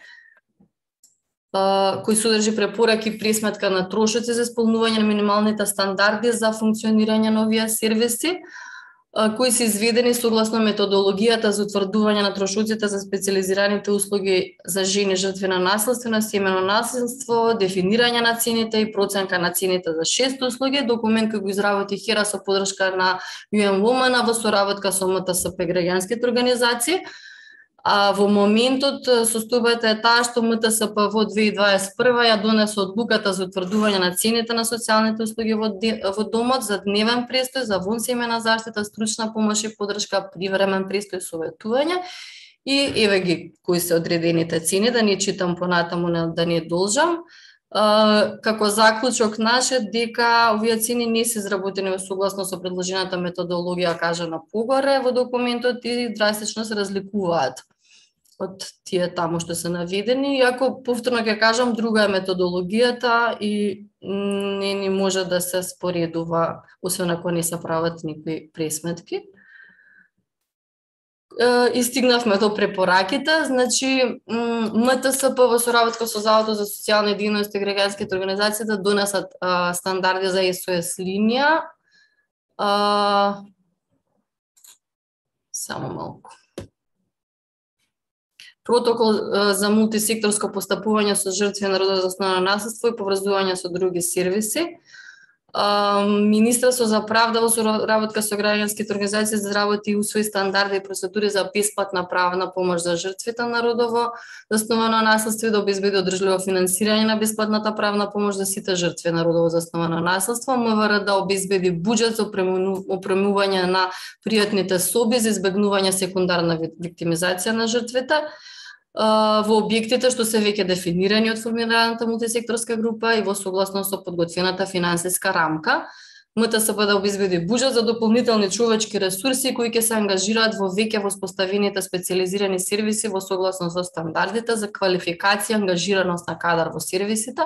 кој содржи препораки и пресметка на трошоци за исполнување на минималните стандарди за функционирање на овие сервиси, кои се изведени согласно методологијата за утврдување на трошоците за специјализираните услуги за жени жртви на наследство, на семејно наследство, дефинирање на цените и проценка на цените за шест услуги, документ кој го изработи ХЕРА со подршка на Ю Ен Воман во соработка со М Т С П граѓанските организации. А во моментот состојбата е таа што М Т С П во две илјади дваесет и прва ја донесе одлуката за утврдување на цените на социјалните услуги во, во домот за дневен престој, за вонсемејна заштита, стручна помош и подршка, привремен престој, советување. И еве ги кои се одредените цени, да не читам понатаму, да не должам. Uh, како заклучок наш е дека овие цени не се изработени во согласно со предложената методологија кажана погоре во документот и драстично се разликуваат од тие таму што се наведени, иако повторно ќе кажам друга е методологијата и не ни може да се споредува, освен ако не се прават никои пресметки. И стигнавме до препораките, значи М Т С П во соработка со Заводот за социјални дејности и граѓанските организации да донесат а, стандарди за С О С линија. А, само малку. Протокол а, за мултисекторско постапување со жртви на родово засновано наследство и поврзување со други сервиси. Министерство за правда во соработка со граѓанските организации изработи и усвои стандарди и процедури за бесплатна правна помош за жртвите на родово засновано наследство и да обезбеди одржливо финансирање на бесплатната правна помош за сите жртви на родово засновано наследство. М В Р да обезбеди буџет за опремување на пријатните соби за избегнување секундарна виктимизација на жртвите во објектите што се веќе дефинирани од формираната мултисекторска група и во согласно со подготвената финансиска рамка. М Т С П да обезбеди буџет за дополнителни човечки ресурси кои ќе се ангажираат во веќе воспоставените специјализирани сервиси во согласно со стандардите за квалификација и ангажираност на кадар во сервисите.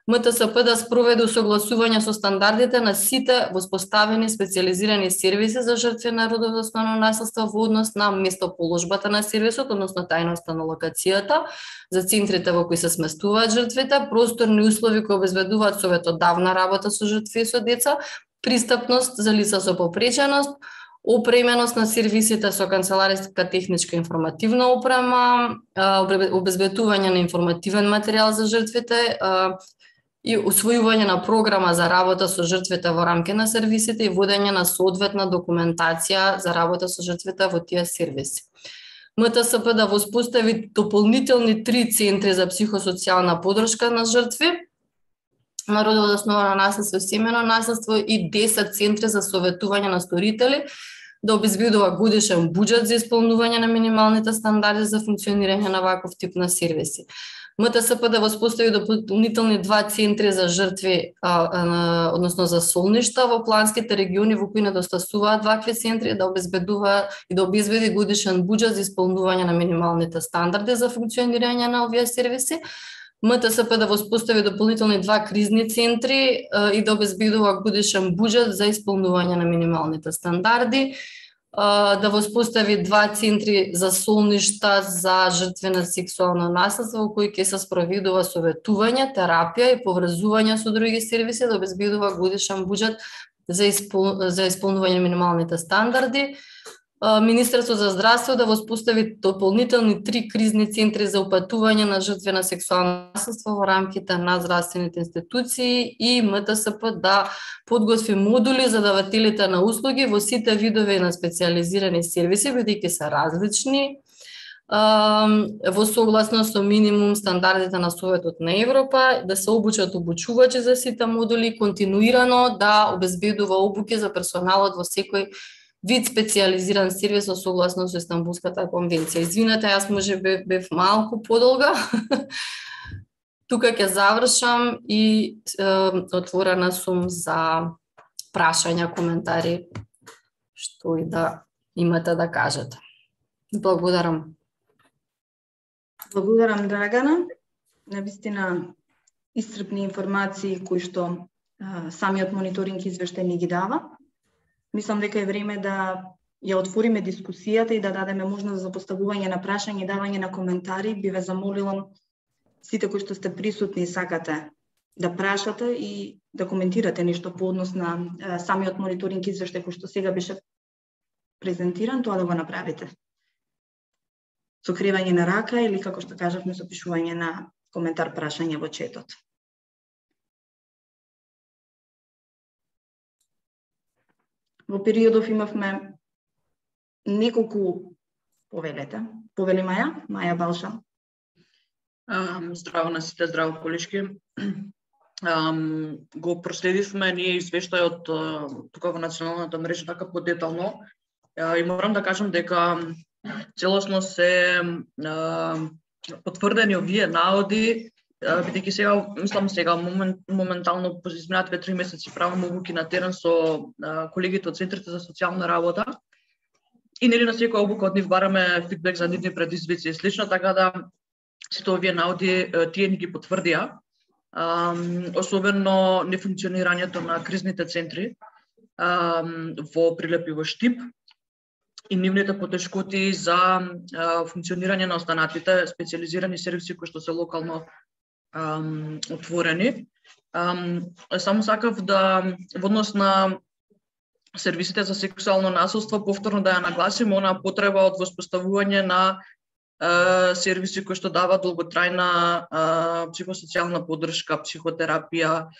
М Т С П да спроведе усогласување со стандардите на сите воспоставени специјализирани сервиси за жртви на родово засновано наследство во однос на местоположбата на сервисот, односно тајноста на локацијата, за центрите во кои се сместуваат жртвите, просторни услови кои обезбедуваат советодавна работа со жртви и со деца, пристапност за лица со попреченост, опременост на сервисите со канцелариска техничка информативна опрема, обезбедување на информативен материјал за жртвите, и усвојување на програма за работа со жртвите во рамки на сервисите и водење на соодветна документација за работа со жртвите во тие сервиси. М Т С П да воспостави дополнителни три центри за психосоцијална подршка на жртви на родово засновано наследство и семејно наследство и десет центри за советување на сторители, да обезбедува годишен буџет за исполнување на минималните стандарди за функционирање на ваков тип на сервиси. М Т С П да воспостави дополнителни два центри за жртви, а, а, односно за солништа во планските региони во кои недостасуваат вакви центри, да обезбедува и да обезбеди годишен буџет за исполнување на минималните стандарди за функционирање на овие сервиси. М Т С П да воспостави дополнителни два кризни центри а, и да обезбедува годишен буџет за исполнување на минималните стандарди. Да воспостави два центри за солништа за жртви на сексуално наследство во кои ќе се спроведува советување, терапија и поврзување со други сервиси, да обезбедува годишен буџет за, испол... за исполнување на минималните стандарди. Министерството за здравство да воспостави дополнителни три кризни центри за упатување на жртви на сексуално насилство во рамките на здравствените институции и М Т С П да подготви модули за давателите на услуги во сите видови на специјализирани сервиси, бидејќи се различни, во согласност со минимум стандардите на Советот на Европа, да се обучат обучувачи за сите модули, континуирано да обезбедува обуки за персоналот во секој вид специјализиран сервис во согласност со Истанбулската конвенција. Извинете, јас може би бев малку подолга. Тука ќе завршам и е, отворена сум за прашања, коментари, што и да имате да кажете. Благодарам. Благодарам, Драгана. Навистина исцрпни информации кои што а, самиот мониторинг извештај ни ги дава. Мислам дека е време да ја отвориме дискусијата и да дадеме можност за поставување на прашања и давање на коментари. Би ве замолила сите кои што сте присутни и сакате да прашате и да коментирате нешто по однос на а, самиот мониторинг извештај кој што сега беше презентиран, тоа да го направите. Со кривање на рака или, како што кажавме, со пишување на коментар, прашање во четот. Во периодов имавме неколку повелета. Повели Маја, Маја Балша. Um, здраво на сите, здраво колешки. Um, го проследивме ние извештајот тука во националната мрежа така подетално uh, и морам да кажам дека целосно се uh, потврдени овие наоди, uh, бидејќи сега, мислам сега, момент, моментално по изминат две-три месеци правам обуки на терен со uh, колегите од Центрите за социјална работа и нели на секоја обука од нив бараме фидбек за нивни предизвици и слично, така да сите овие наоди тие ни ги потврдија, um, особено нефункционирањето на кризните центри um, во Прилеп и во Штип и нивните потешкоти за uh, функционирање на останатите специјализирани сервиси кои што се локално um, отворени. Um, само сакав да во однос на сервисите за сексуално насилство повторно да ја нагласим онаа потреба од воспоставување на Uh, сервиси кои што даваат долготрајна uh, психосоцијална поддршка, психотерапија,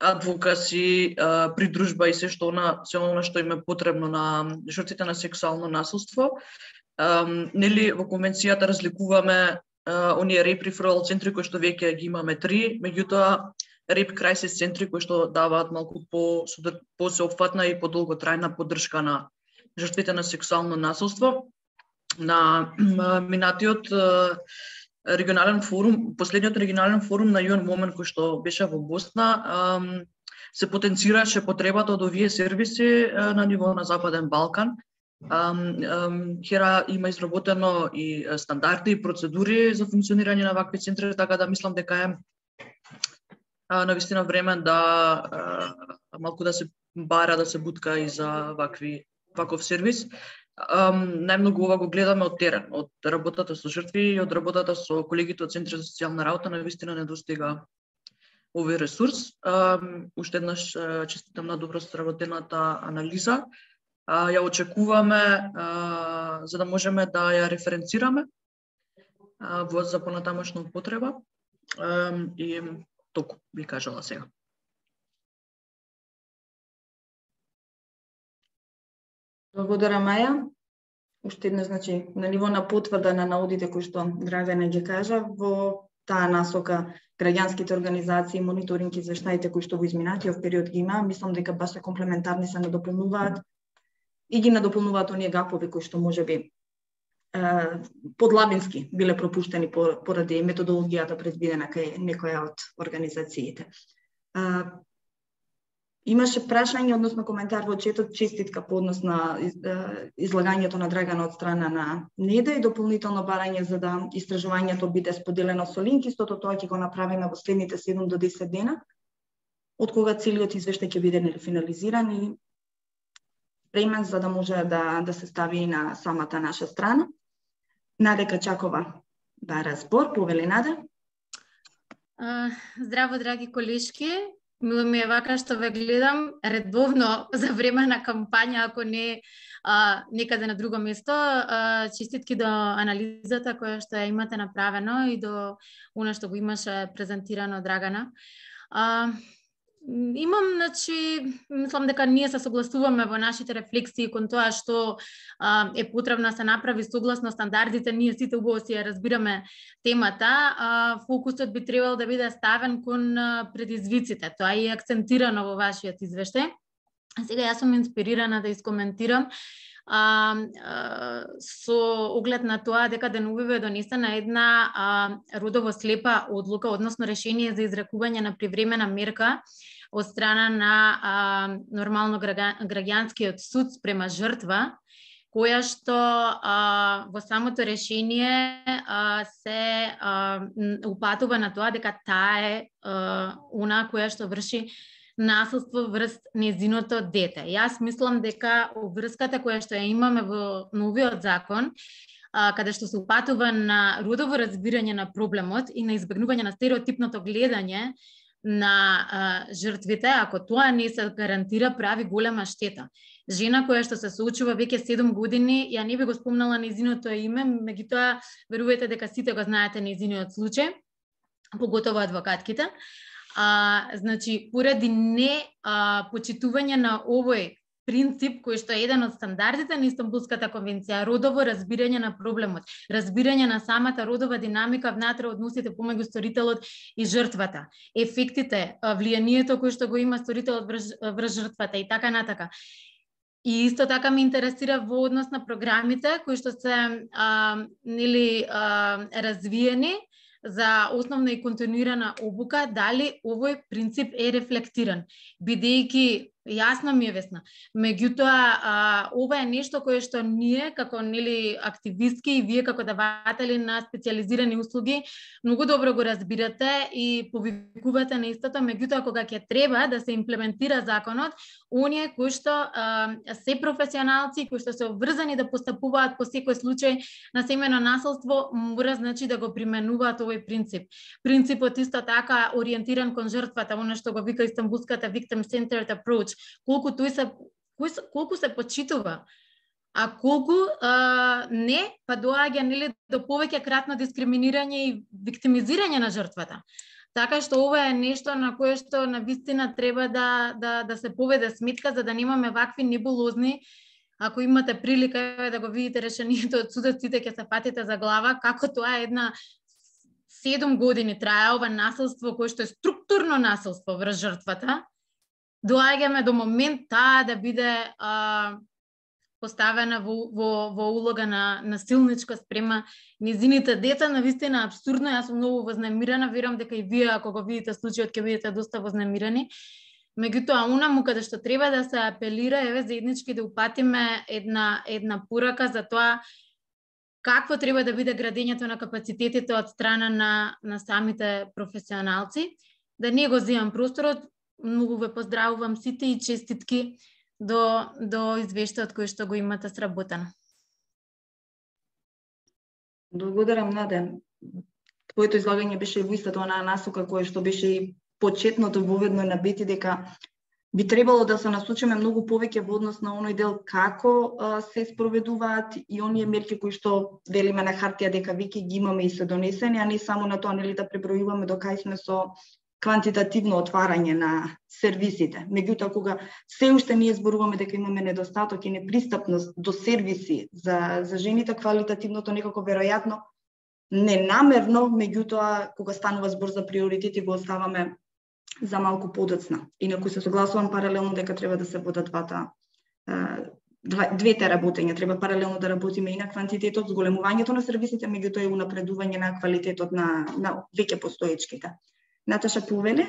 адвокаси, uh, придружба и се што она, се она што им е потребно на жртвите на сексуално насилство. Um, нели во конвенцијата разликуваме uh, оние rape referral центри кои што веќе ги имаме три, меѓутоа rape crisis центри кои што даваат малку по по сеопфатна и подолготрајна поддршка на жртвите на сексуално насилство. На минатиот регионален форум, последниот регионален форум на ю ен Women кој што беше во Босна, се потенцираше потребата од овие сервиси на ниво на Западен Балкан. Хера има изработено и стандарди и процедури за функционирање на вакви центри, така да мислам дека е навистина време да малку да се бара, да се бутка и за вакви ваков сервис. Um, најмногу ова го гледаме од терен, од работата со жртви и од работата со колегите од Центри за социјална работа, навистина недостига овој ресурс. Um, уште еднаш честитам на добро сработената анализа. Uh, ја очекуваме uh, за да можеме да ја референцираме uh, во за понатамошна употреба um, и толку би кажала сега. Благодарам, Маја. Уште едно, значи, на ниво на потврда на наудите кои што Драгана ги кажа, во таа насока граѓанските организации, мониторинг и извештаите кои што во изминатиот период ги има, мислам дека баш се комплементарни, се надополнуваат и ги надополнуваат оние гапови кои што можеби подлабински биле пропуштени поради методологијата предвидена кај некоја од организациите. Имаше прашање, односно коментар во четот, честитка по однос на излагањето на Драгана од страна на Неда и дополнително барање за да истражувањето биде споделено со линк. Истото тоа ќе го направиме во следните седум до десет дена, од кога целиот извештај ќе биде финализиран и премен за да може да, да се стави на самата наша страна. Наде Качакова бара збор, повели Наде. Здраво, драги колешки. Мило ми е вака што ве гледам редовно за време на кампања, ако не а, некаде на друго место. А, честитки до анализата која што ја имате направено и до она што го имаше презентирано Драгана. А, Имам, значи, мислам дека ние се согласуваме во нашите рефлексии кон тоа што а, е потребно да се направи согласно стандардите. Ние сите убаво си ја разбираме темата. А, фокусот би требал да биде ставен кон а, предизвиците. Тоа е акцентирано во вашиот извештај. Сега јас сум инспирирана да искоментирам А, а, со оглед на тоа дека деновиве е донесена една а, родово слепа одлука, односно решение за изрекување на привремена мерка од страна на а, нормално граѓанскиот суд спрема жртва, која што а, во самото решение а, се а, упатува на тоа дека таа е а, она која што врши насилство врз незиното дете. Јас мислам дека врската која што ја имаме во новиот закон, а, каде што се упатува на родово разбирање на проблемот и на избегнување на стереотипното гледање на а, жртвите, ако тоа не се гарантира, прави голема штета. Жена која што се соочува веќе седум години, ја не би го спомнала незиното име, меѓутоа верувајте дека сите го знаете незиниот случај, поготово адвокатките. А, значи, поради не а, почитување на овој принцип, кој што е еден од стандардите на Истанбулската конвенција, родово разбирање на проблемот, разбирање на самата родова динамика внатре односите помеѓу сторителот и жртвата, ефектите, влијанието кој што го има сторителот врз, врз жртвата и така натака. И исто така ме интересира во однос на програмите кои што се а, нели а, развиени за основна и континуирана обука, дали овој принцип е рефлектиран, бидејќи јасно ми е весна. Меѓутоа, ова е нешто кое што ние, како нели активистки и вие како даватели на специализирани услуги, многу добро го разбирате и повикувате на истото, меѓутоа кога ќе треба да се имплементира законот, оние кои што а, се професионалци, кои што се обврзани да постапуваат по секој случај на семејно насилство, мора значи да го применуваат овој принцип. Принципот исто така ориентиран кон жртвата, она што го вика Истанбулската Victim Centered Approach, колку тој се колку се почитува, а колку а, не, па доаѓа нели до повеќе кратно дискриминирање и виктимизирање на жртвата. Така што ова е нешто на кое што навистина треба да да да се поведе сметка, за да немаме вакви небулозни. Ако имате прилика да го видите решението од судот, сите ќе се патите за глава како тоа е една седум години трае ова насилство кое што е структурно насилство врз жртвата. Доаѓаме до момент таа да биде а, поставена во, во, во улога на насилничка спрема незините дета, навистина абсурдно. Јас сум многу вознемирена, верувам дека и вие ако го видите случајот ќе бидете доста вознемирени. Меѓутоа, унаму каде што треба да се апелира, еве заеднички да упатиме една една порака за тоа какво треба да биде градењето на капацитетите од страна на на самите професионалци. Да не го земам просторот. Многу ве поздравувам сите и честитки до, до извештајот кој што го имате сработено. Благодарам, Наде. Твоето излагање беше во истата онаа насока која што беше и почетното воведно набити дека би требало да се насочиме многу повеќе во однос на оној дел како а, се спроведуваат и оние мерки кои што велиме на хартија дека веќе ги имаме и се донесени, а не само на тоа нели да пребројуваме до кај сме со квантитативно отварање на сервисите. Меѓутоа, кога се уште ние зборуваме дека имаме недостаток и непристапност до сервиси за, за жените, квалитативното некако веројатно ненамерно, меѓутоа, кога станува збор за приоритети, го оставаме за малку подоцна. Инаку се согласувам паралелно дека треба да се водат двата, двете работења. Треба паралелно да работиме и на квантитетот, зголемувањето на сервисите, меѓутоа и унапредување на квалитетот на, на веќе постоечките. Наташа Повеле.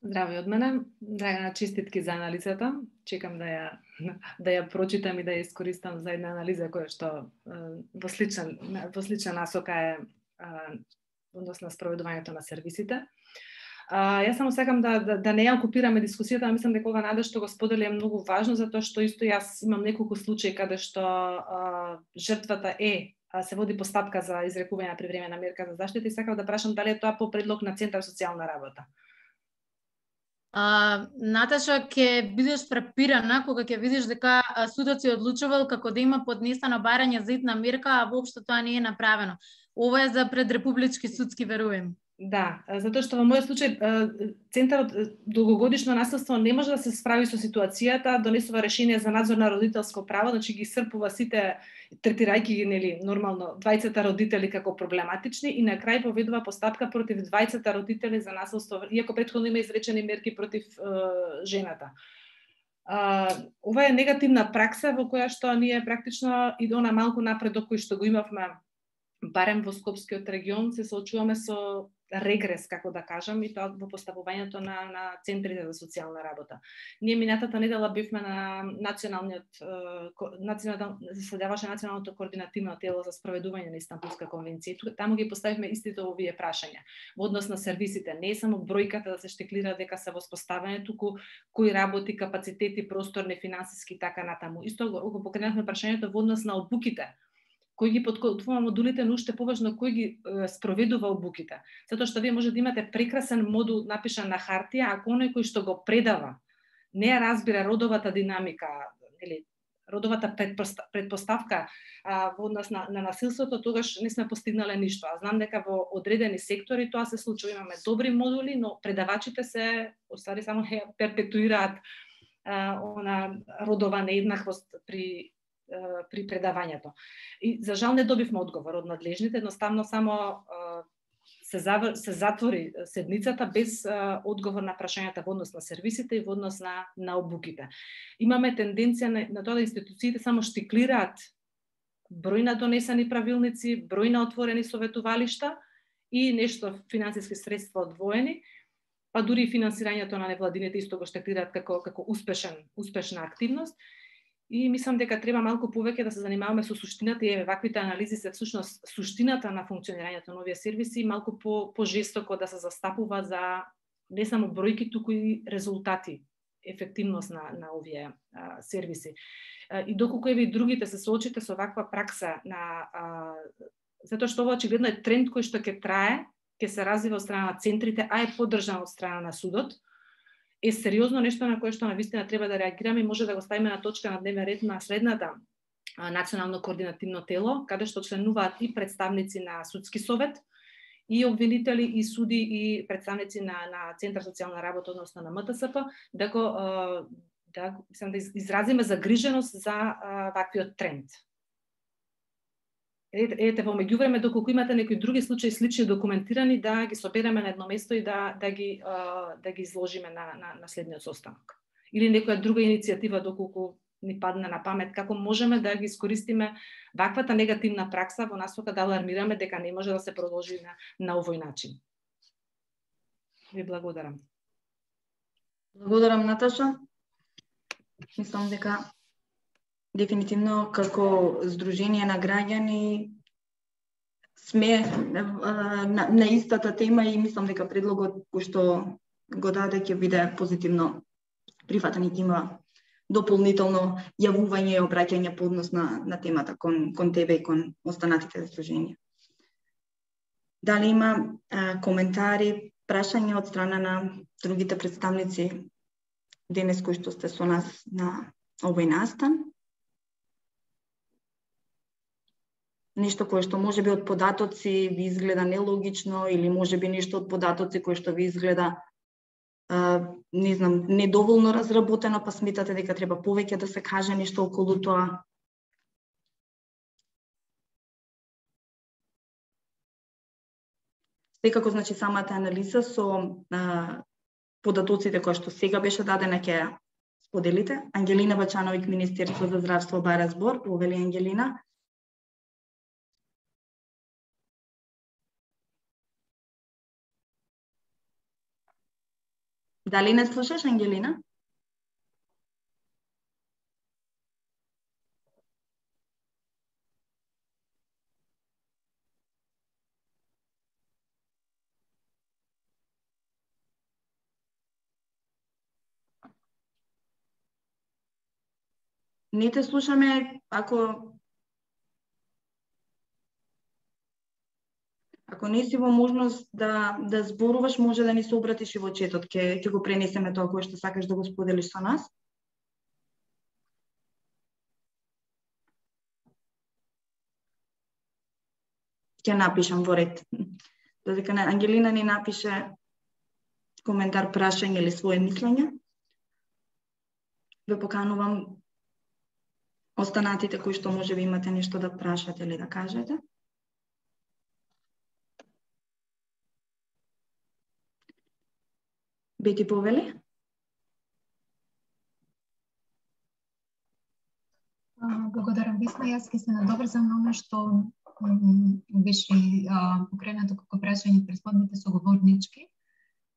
Здраво од мене. Драгана, честитки за анализата. Чекам да ја да ја прочитам и да ја искористам за една анализа која што во сличен во слична насока е односно спроведувањето на сервисите. А, јас само сакам да, да, да не ја окупираме дискусијата, а мислам дека ова Наде што го сподели е многу важно, затоа што исто јас имам неколку случаи каде што а, жртвата е се води постапка за изрекување на привремена мерка за заштита и сакам да прашам дали е тоа по предлог на Центар социјална работа. А, Наташа, ќе бидеш фрапирана кога ќе видиш дека судот си одлучувал како да има поднесено барање за итна мерка, а воопшто тоа не е направено. Ова е за предрепублички судски, верувам. Да, затоа што во мојот случај Центарот долгогодишно наследство не може да се справи со ситуацијата, донесува решение за надзор на родителско право, значи ги исцрпува сите, третирајќи ги нели нормално двајцата родители како проблематични и на крај поведува постапка против двајцата родители за наследство, иако претходно има изречени мерки против е, жената. А, ова е негативна пракса во која што ние практично и она малку напредок кој што го имавме барем во Скопскиот регион се соочуваме со регрес, како да кажам, и тоа во поставувањето на, на центрите за социјална работа. Ние минатата недела бевме на националниот, национал, заседаваше националното координативно тело за спроведување на Истанбулска конвенција. Таму ги поставивме истите овие прашања. Во однос на сервисите, не е само бројката да се штеклира дека се воспоставени, туку кои работи, капацитети, просторни, финансиски, така натаму. Исто го покренавме прашањето во однос на обуките. Кој ги подготвува модулите, но уште поважно кој ги е, спроведува обуките. Затоа што вие може да имате прекрасен модул напишан на хартија, ако оној кој што го предава не ја разбира родовата динамика или родовата предпоставка а, во однос на, на насилството, тогаш не сме постигнале ништо. А знам дека во одредени сектори тоа се случува. Имаме добри модули, но предавачите се остави само перпетуираат а, она родова нееднаквост при при предавањето. И за жал не добивме одговор од надлежните, едноставно само се, завр... се затвори седницата без одговор на прашањата во однос на сервисите и во однос на, на обуките. Имаме тенденција на, на тоа да институциите само штиклираат број на донесени правилници, број на отворени советувалишта и нешто финансиски средства одвоени, па дури и финансирањето на невладините исто го штиклираат како, како успешен, успешна активност. И мислам дека треба малку повеќе да се занимаваме со суштината и ваквите анализи се всушност суштината на функционирањето на овие сервиси, малку по пожестоко да се застапува за не само бројки, туку и резултати, ефективност на на овие а, сервиси. А, и доколку еве и другите се соочите со ваква пракса на а, затоа што ова очигледно е тренд кој што ќе трае, ќе се развива од страна на центрите, а е поддржан од страна на судот, е сериозно нешто на кое што навистина треба да реагираме и може да го ставиме на точка на дневен ред на следната а, национално координативно тело, каде што членуваат и представници на судски совет, и обвинители, и суди, и представници на, на Центар социјална работа, односно на М Т С П, да го а, да, мислам, да изразиме загриженост за а, ваквиот тренд. Ете, ете во меѓувреме, доколку имате некои други случаи слични документирани, да ги собереме на едно место и да да ги да ги изложиме на на на следниот состанок. Или некоја друга иницијатива доколку ни падне на памет, како можеме да ги искористиме ваквата негативна пракса во насока да алармираме дека не може да се продолжи на на овој начин. Ви благодарам. Благодарам, Наташа. Мислам дека дефинитивно како Сдружение на граѓани сме на, на истата тема и мислам дека предлогот кој што го даде ќе биде позитивно прифатен и ќе има дополнително јавување и обраќање по однос на, на темата кон, кон тебе и кон останатите здруженија. Дали има а, коментари, прашања од страна на другите представници денес кои што сте со нас на овој настан? Нешто кое што можеби од податоци ви изгледа нелогично или можеби нешто од податоци кое што ви изгледа а, не знам, недоволно разработено, па сметате дека треба повеќе да се каже нешто околу тоа. Секако, значи, самата анализа со а, податоците кои што сега беше дадена ќе ја споделите. Ангелина Бачановиќ, Министерство за здравство, бара збор. Повели Ангелина. Дали не слушаш, Ангелина? Не те слушаме, ако Ако не си во можност да да зборуваш, може да ни се обратиш и во четот, ќе ќе го пренесеме тоа кое што сакаш да го споделиш со нас. Ќе напишам во ред. Додека Ангелина ни напише коментар, прашање или своje мислење, ве поканувам останатите кои што може би имате нешто да прашате или да кажете. Бети Повели? Благодарам, Весна. Јас ќе се надоврзам на оно што беше покренато како прашање претходните соговорнички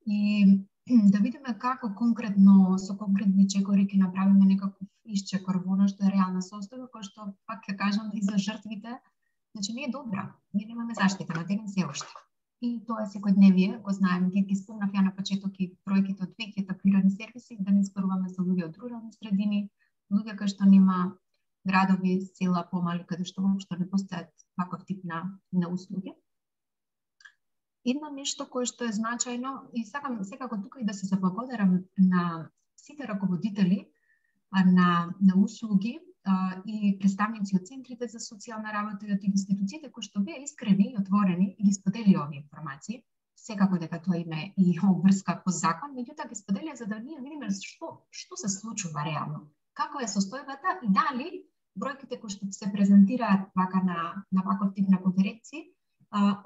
и да видиме како конкретно, со конкретни чекори ќе направиме некаков исчекор во оно што е реална состојба, кој што, пак ќе кажам, и за жртвите, значи не е добра. Ние немаме заштита на терен се уште. И тоа е секојдневие, го знаем, ги, ги спомнав ја на почеток и бројките од веќе етапирани сервиси, да не зборуваме за луѓе од рурални средини, луѓе кои што нема градови, села помали, каде што воопшто не постојат ваков тип на, на услуги. Едно нешто кое што е значајно, и сакам секако тука и да се заблагодарам на сите раководители на, на услуги а, и представници од центрите за социјална работа и од институциите кои што беа искрени и отворени и ги сподели овие информации. Секако дека тоа има и обврска по закон, меѓутоа ги споделија за да ние видиме што што се случува реално, каква е состојбата и дали бројките кои што се презентираат вака на на ваков тип на конференции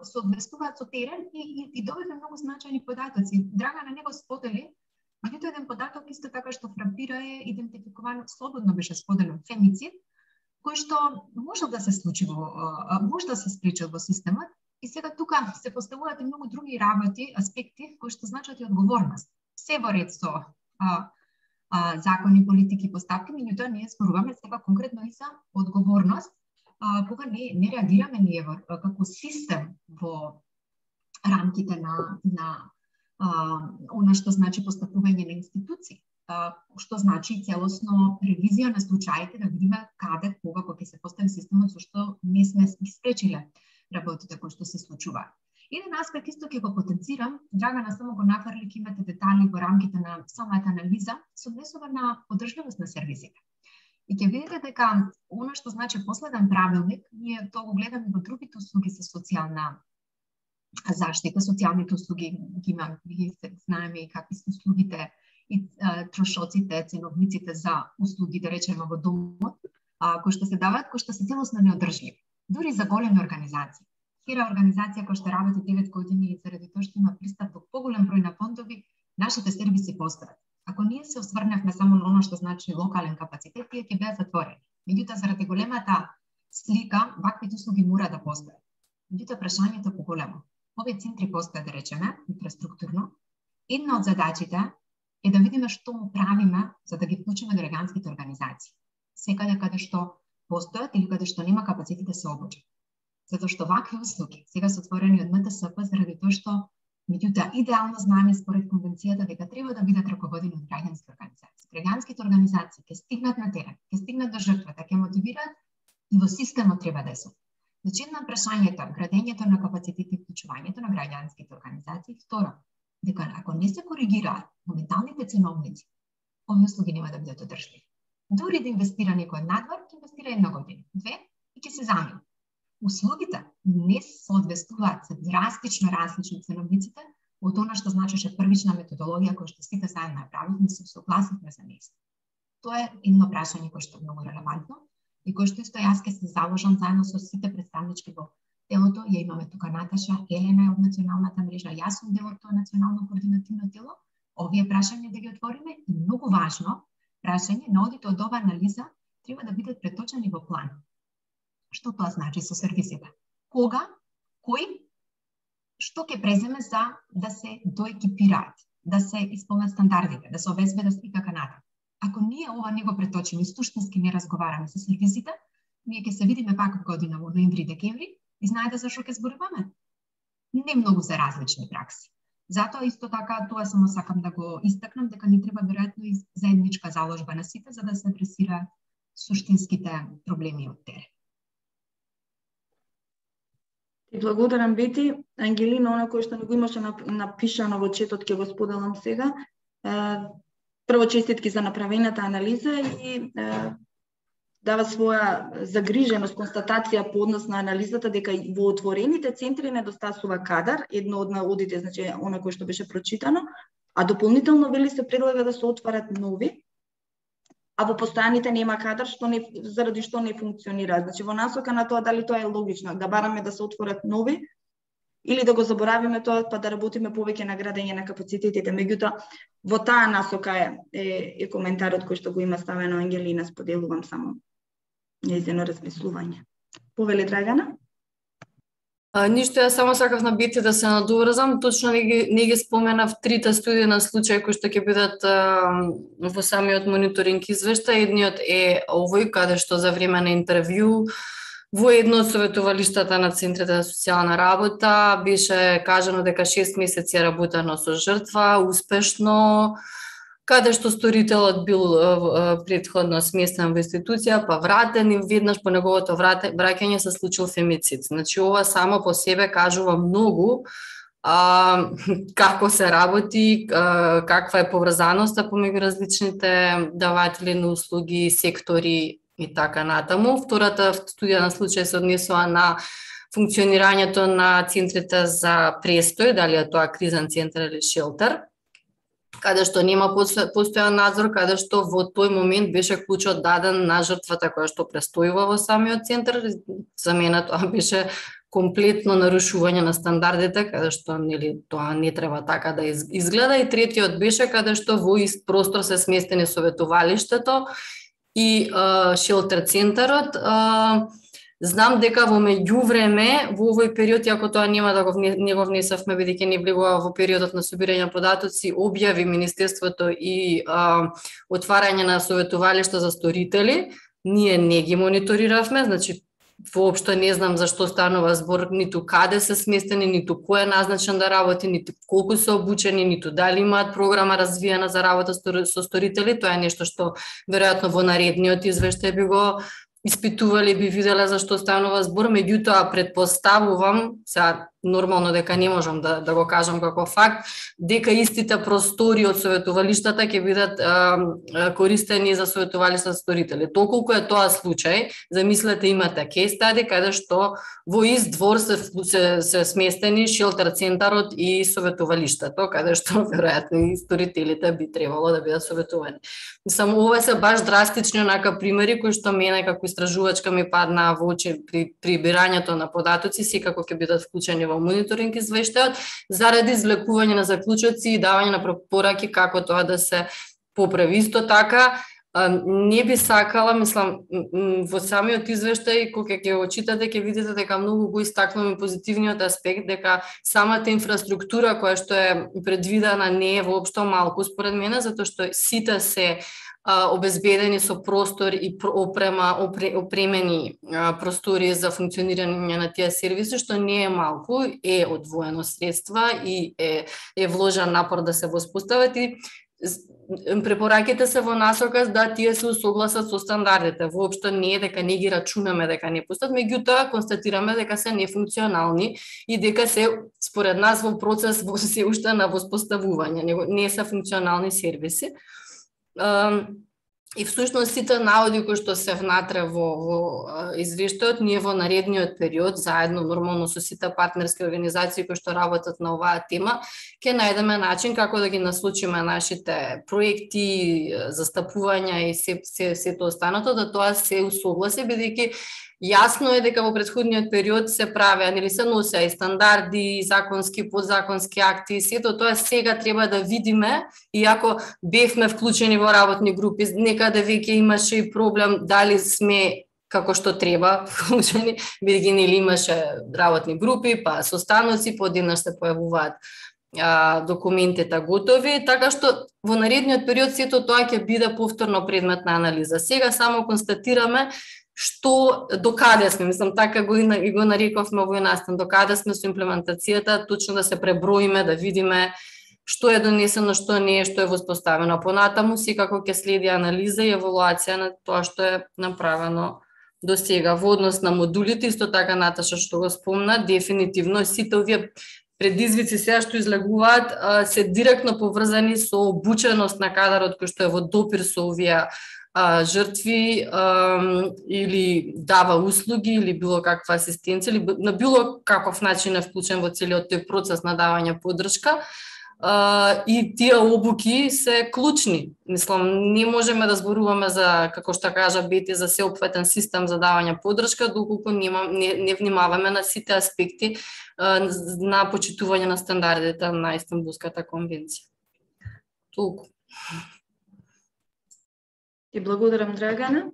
соодветствуваат со терен и, и, и добивме многу значајни податоци. Драгана не го сподели, меѓутоа еден податок исто така што фрапира е идентификувано, слободно беше споделен, фемицид, кој што може да се случи во, може да се спречи во системот и сега тука се поставуваат и многу други работи, аспекти кои што значат и одговорност. Се во ред со а, а, закони, политики, поставки, меѓутоа ние зборуваме сега конкретно и за одговорност. А, кога не, не реагираме ние во, како систем во рамките на, на а, она што значи постапување на институции, а, што значи целосно ревизија на случаите, да видиме каде, кога, кога ќе се постави системот, со што не сме испречиле работите кои што се случува. Еден аспект исто ќе го потенцирам, Драгана само го нафрли, ќе имате детали во рамките на самата анализа, се однесува на одржливост на сервисите. И ќе видите дека оно што значи последен правилник, ние тоа го гледаме во другите услуги за социјална заштита, социјалните услуги ги има, ги знаеме и какви се услугите и а, трошоците, ценовниците за услуги, да речеме во домот, а, кои што се даваат, кои што се целосно неодржливи. Дури за големи организации. Хира организација која што работи девет години и заради тоа што има пристап до поголем број на фондови, нашите сервиси постојат. Ако ние се осврневме само на оно што значи локален капацитет, тие ќе беа затворени. Меѓутоа, заради големата слика, ваквите услуги мора да постојат. Меѓутоа, прашањето е поголемо. Овие центри постојат, да речеме, инфраструктурно. Една од задачите е да видиме што му правиме за да ги вклучиме до граѓанските организации. Секаде каде што постојат или каде што нема капацитет да се обучат. Затоа што вакви услуги сега се отворени од М Т С П заради тоа што меѓутоа идеално знаеме според конвенцијата дека треба да бидат раководени од граѓански организации. Граѓанските организации ќе стигнат на терен, ќе стигнат до жртвата, ќе мотивираат и во системот треба да се. Значи, едно прашањето е градењето на капацитет и вклучувањето на граѓанските организации. Второ, дека ако не се коригираат моменталните ценовници, овие услуги нема да бидат одржливи. Дури да инвестира некој надвор, ќе инвестира една година, две и ќе се замени. Услугите не соодветствуваат се драстично различни ценовниците од она што значеше првична методологија која што сите заедно направивме и се согласивме за неа. Тоа е едно прашање кое што е многу релевантно и кое што исто јас ќе се заложам заедно со сите представнички во телото. Ја имаме тука Наташа, Елена од националната мрежа, јас сум дел од тоа национално координативно тело. Овие прашања да ги отвориме и многу важно прашање, наодите од ова анализа треба да бидат преточени во план. Што тоа значи со сервисите? Кога, кој, што ќе преземе за да се доекипираат, да се исполнат стандардите, да се обезбедат и така натаму. Ако ние ова не го преточиме и суштински не разговараме со сервисите, ние ќе се видиме пак година во ноември-декември и знаете за што ќе зборуваме? Не многу за различни пракси. Затоа исто така тоа само сакам да го истакнам дека ни треба веројатно и заедничка заложба на сите за да се адресира суштинските проблеми од терен. Ти благодарам, Бети. Ангелина, она кој што не го имаше напишано во четот, ќе го споделам сега. Прво, честитки за направената анализа и дава своја загриженост, констатација по однос на анализата дека во отворените центри недостасува кадар, едно од наводите, значи она кој што беше прочитано, а дополнително вели се предлага да се отварат нови, а во постојаните нема кадар, што не, заради што не функционира. Значи во насока на тоа дали тоа е логично, да бараме да се отворат нови или да го заборавиме тоа, па да работиме повеќе на градење на капацитетите. Меѓутоа, во таа насока е, е, е коментарот кој што го има ставено Ангелина, споделувам само нејзино размислување. Повели Драгана? А, ништо, ја само сакав на Бети да се надоврзам, точно не ги, не ги споменав трите студии на случаи кои што ќе бидат а, во самиот мониторинг извештај. Едниот е овој, каде што за време на интервју во едно од советувалиштата на Центрите за социјална работа беше кажано дека шест месеци е работено со жртва, успешно, каде што сторителот бил претходно сместен во институција, па вратен и веднаш по неговото враќање се случил фемицид. Значи, ова само по себе кажува многу а, како се работи, а, каква е поврзаноста помеѓу различните даватели на услуги, сектори и така натаму. Втората студија на случај се однесува на функционирањето на центрите за престој, дали е тоа кризен центар или шелтер, каде што нема постојан надзор, каде што во тој момент беше клучот даден на жртвата која што престојува во самиот центар. За мене тоа беше комплетно нарушување на стандардите, каде што нели тоа не треба така да изгледа. И третиот беше каде што во ист простор се сместени советувалиштето и а, шелтер центарот. А, Знам дека во меѓувреме, во овој период, иако тоа нема да го не го внесавме, бидејќи не влегува во периодот на собирање податоци, објави Министерството и а, отварање на советувалишта за сторители. Ние не ги мониториравме, значи воопшто не знам за што станува збор, ниту каде се сместени, ниту кој е назначен да работи, ниту колку се обучени, ниту дали имаат програма развиена за работа со сторители. Тоа е нешто што веројатно во наредниот извештај би го испитували, би виделе за што станува збор. Меѓутоа претпоставувам, сега нормално дека не можам да, да го кажам како факт, дека истите простори од советувалиштата ќе бидат а, користени за советувалишта за сторители. Толку е тоа случај, замислете, имате кейс стади каде што во ист двор се, се, се сместени шелтер центарот и советувалиштето, каде што веројатно и сторителите би требало да бидат советувани. Само ова се баш драстични онака примери кои што мене како истражувачка ми паднаа во очи при прибирањето на податоци, секако ќе бидат вклучени во мониторинг извештајот, заради извлекување на заклучоци и давање на препораки како тоа да се поправи. Исто така, не би сакала, мислам, во самиот извештај, кога ќе го читате, ќе видите дека многу го истакнуваме позитивниот аспект, дека самата инфраструктура која што е предвидена не е воопшто малку според мене, затоа што сите се обезбедени со простор и опрема, опремени простори за функционирање на тие сервиси, што не е малку, е одвоено средства и е, е вложен напор да се воспостават и препораките се во насока да тие се усогласат со стандардите. Воопшто не е дека не ги рачунаме дека не пустат, меѓутоа констатираме дека се нефункционални и дека се според нас во процес во се уште на воспоставување, не, не се функционални сервиси. И всушност сите наводи кои што се внатре во, во извештајот, ние во наредниот период, заедно нормално со сите партнерски организации кои што работат на оваа тема, ќе најдеме начин како да ги наслучиме нашите проекти, застапувања и се, се, сето останато, да тоа се усогласи, бидејќи јасно е дека во претходниот период се правеа, нели се носеа и стандарди, и законски, подзаконски акти, и сето тоа сега треба да видиме, иако бевме вклучени во работни групи, некаде веќе имаше и проблем дали сме како што треба вклучени, бидејќи нели имаше работни групи, па состаноци, подеднаш се појавуваат а, документите готови, така што во наредниот период сето тоа ќе биде повторно предмет на анализа. Сега само констатираме што докаде сме, мислам така го и го нарековме овој настан, докаде сме со имплементацијата, точно да се преброиме, да видиме што е донесено, што не е, што е воспоставено. Понатаму секако ќе следи анализа и евалуација на тоа што е направено до сега во однос на модулите, исто така Наташа што го спомна, дефинитивно сите овие предизвици сега што излегуваат се директно поврзани со обученост на кадарот кој што е во допир со овие а, жртви а, или дава услуги или било каква асистенција или на било каков начин е вклучен во целиот тој процес на давање поддршка. Uh, и тие обуки се клучни. Мислам, не можеме да зборуваме за, како што кажа Бети, за сеопфатен систем за давање поддршка, доколку нема, не, не внимаваме на сите аспекти uh, на почитување на стандардите на Истанбулската конвенција. Толку. Ти благодарам, Драгана.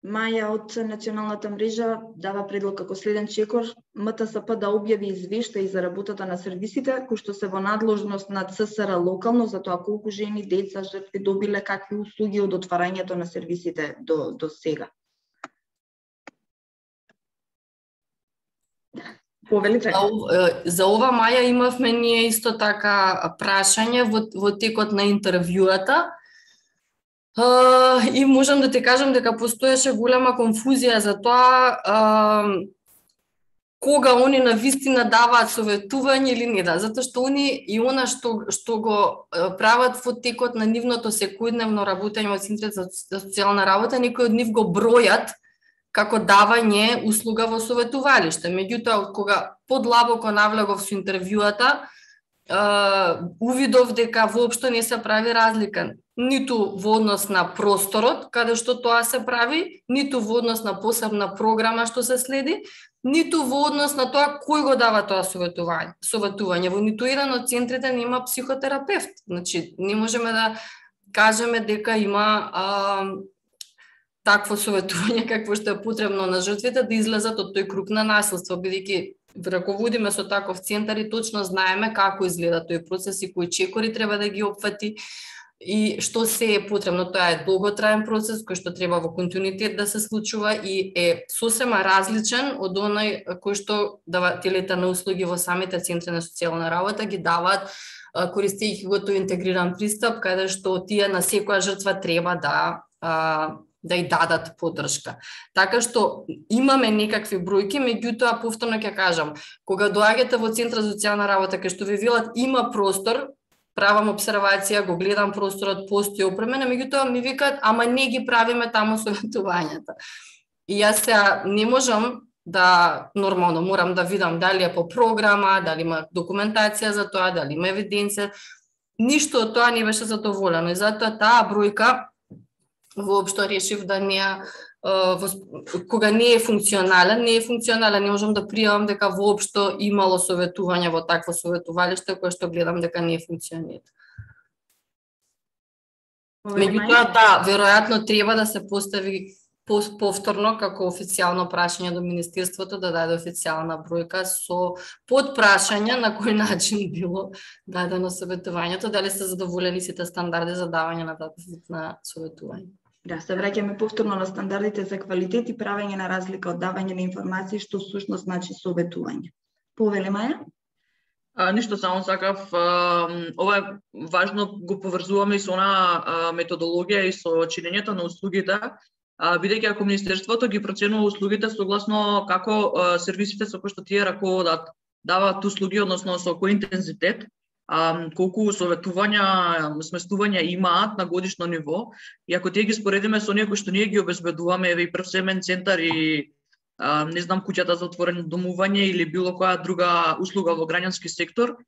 Маја од Националната мрежа дава предлог како следен чекор М Т С П да објави извештај за работата на сервисите кои што се во надложност на Ц С Р локално за тоа колку жени, деца, жртви добиле какви услуги од отварањето на сервисите до до сега. Повели за, за ова Маја имавме ние исто така прашање во, во текот на интервјуата. Uh, и можам да те кажам дека постоеше голема конфузија за тоа uh, кога они на вистина даваат советување или не да, затоа што они и она што што го uh, прават во текот на нивното секојдневно работење во центрот за социјална работа, некои од нив го бројат како давање услуга во советувалиште. Меѓутоа, кога подлабоко навлегов со интервјуата, uh, увидов дека воопшто не се прави разлика ниту во однос на просторот, каде што тоа се прави, ниту во однос на посебна програма што се следи, ниту во однос на тоа кој го дава тоа советување. Советување во ниту еден од центрите нема психотерапевт. Значи, не можеме да кажеме дека има а, такво советување какво што е потребно на жртвите да излезат од тој круг на насилство, бидејќи раководиме со таков центар и точно знаеме како изгледа тој процес и кои чекори треба да ги опфати и што се е потребно. Тоа е долготраен процес кој што треба во континуитет да се случува и е сосема различен од оној кој што давателите на услуги во самите центри на социјална работа ги даваат користејќи го тој интегриран пристап, каде што тие на секоја жртва треба да да и дадат поддршка. Така што имаме некакви бројки, меѓутоа повторно ќе кажам, кога доаѓате во центар за социјална работа кај што ви велат има простор, правам обсервација, го гледам просторот, постои опремена, меѓутоа ми викаат, ама не ги правиме таму советувањата. И јас сега не можам да, нормално, морам да видам дали е по програма, дали има документација за тоа, дали има евиденција. Ништо од тоа не беше задоволено и затоа таа бројка воопшто решив да не кога не е функционален, не е функционален, не можам да приемам дека воопшто имало советување во такво советувалиште кое што гледам дека не функционира. Меѓутоа, да, веројатно треба да се постави повторно како официјално прашање до Министерството да даде официјална бројка со подпрашање на кој начин било дадено советувањето, дали се задоволени сите стандарди за давање на на советување. Да, се враќаме повторно на стандардите за квалитет и правење на разлика од давање на информации што всушност значи советување. Повели Маја? А, ништо, само сакав, а, ова е важно, го поврзуваме и со она методологија и со чинењето на услугите, бидејќи ако Министерството ги проценува услугите согласно како а, сервисите со кои што тие раководат даваат услуги, односно со кој интензитет, а, колку советувања, сместувања имаат на годишно ниво, и ако тие ги споредиме со оние кои што ние ги обезбедуваме, еве и прв семен центар и а, не знам, куќата за отворено домување или било која друга услуга во граѓански сектор,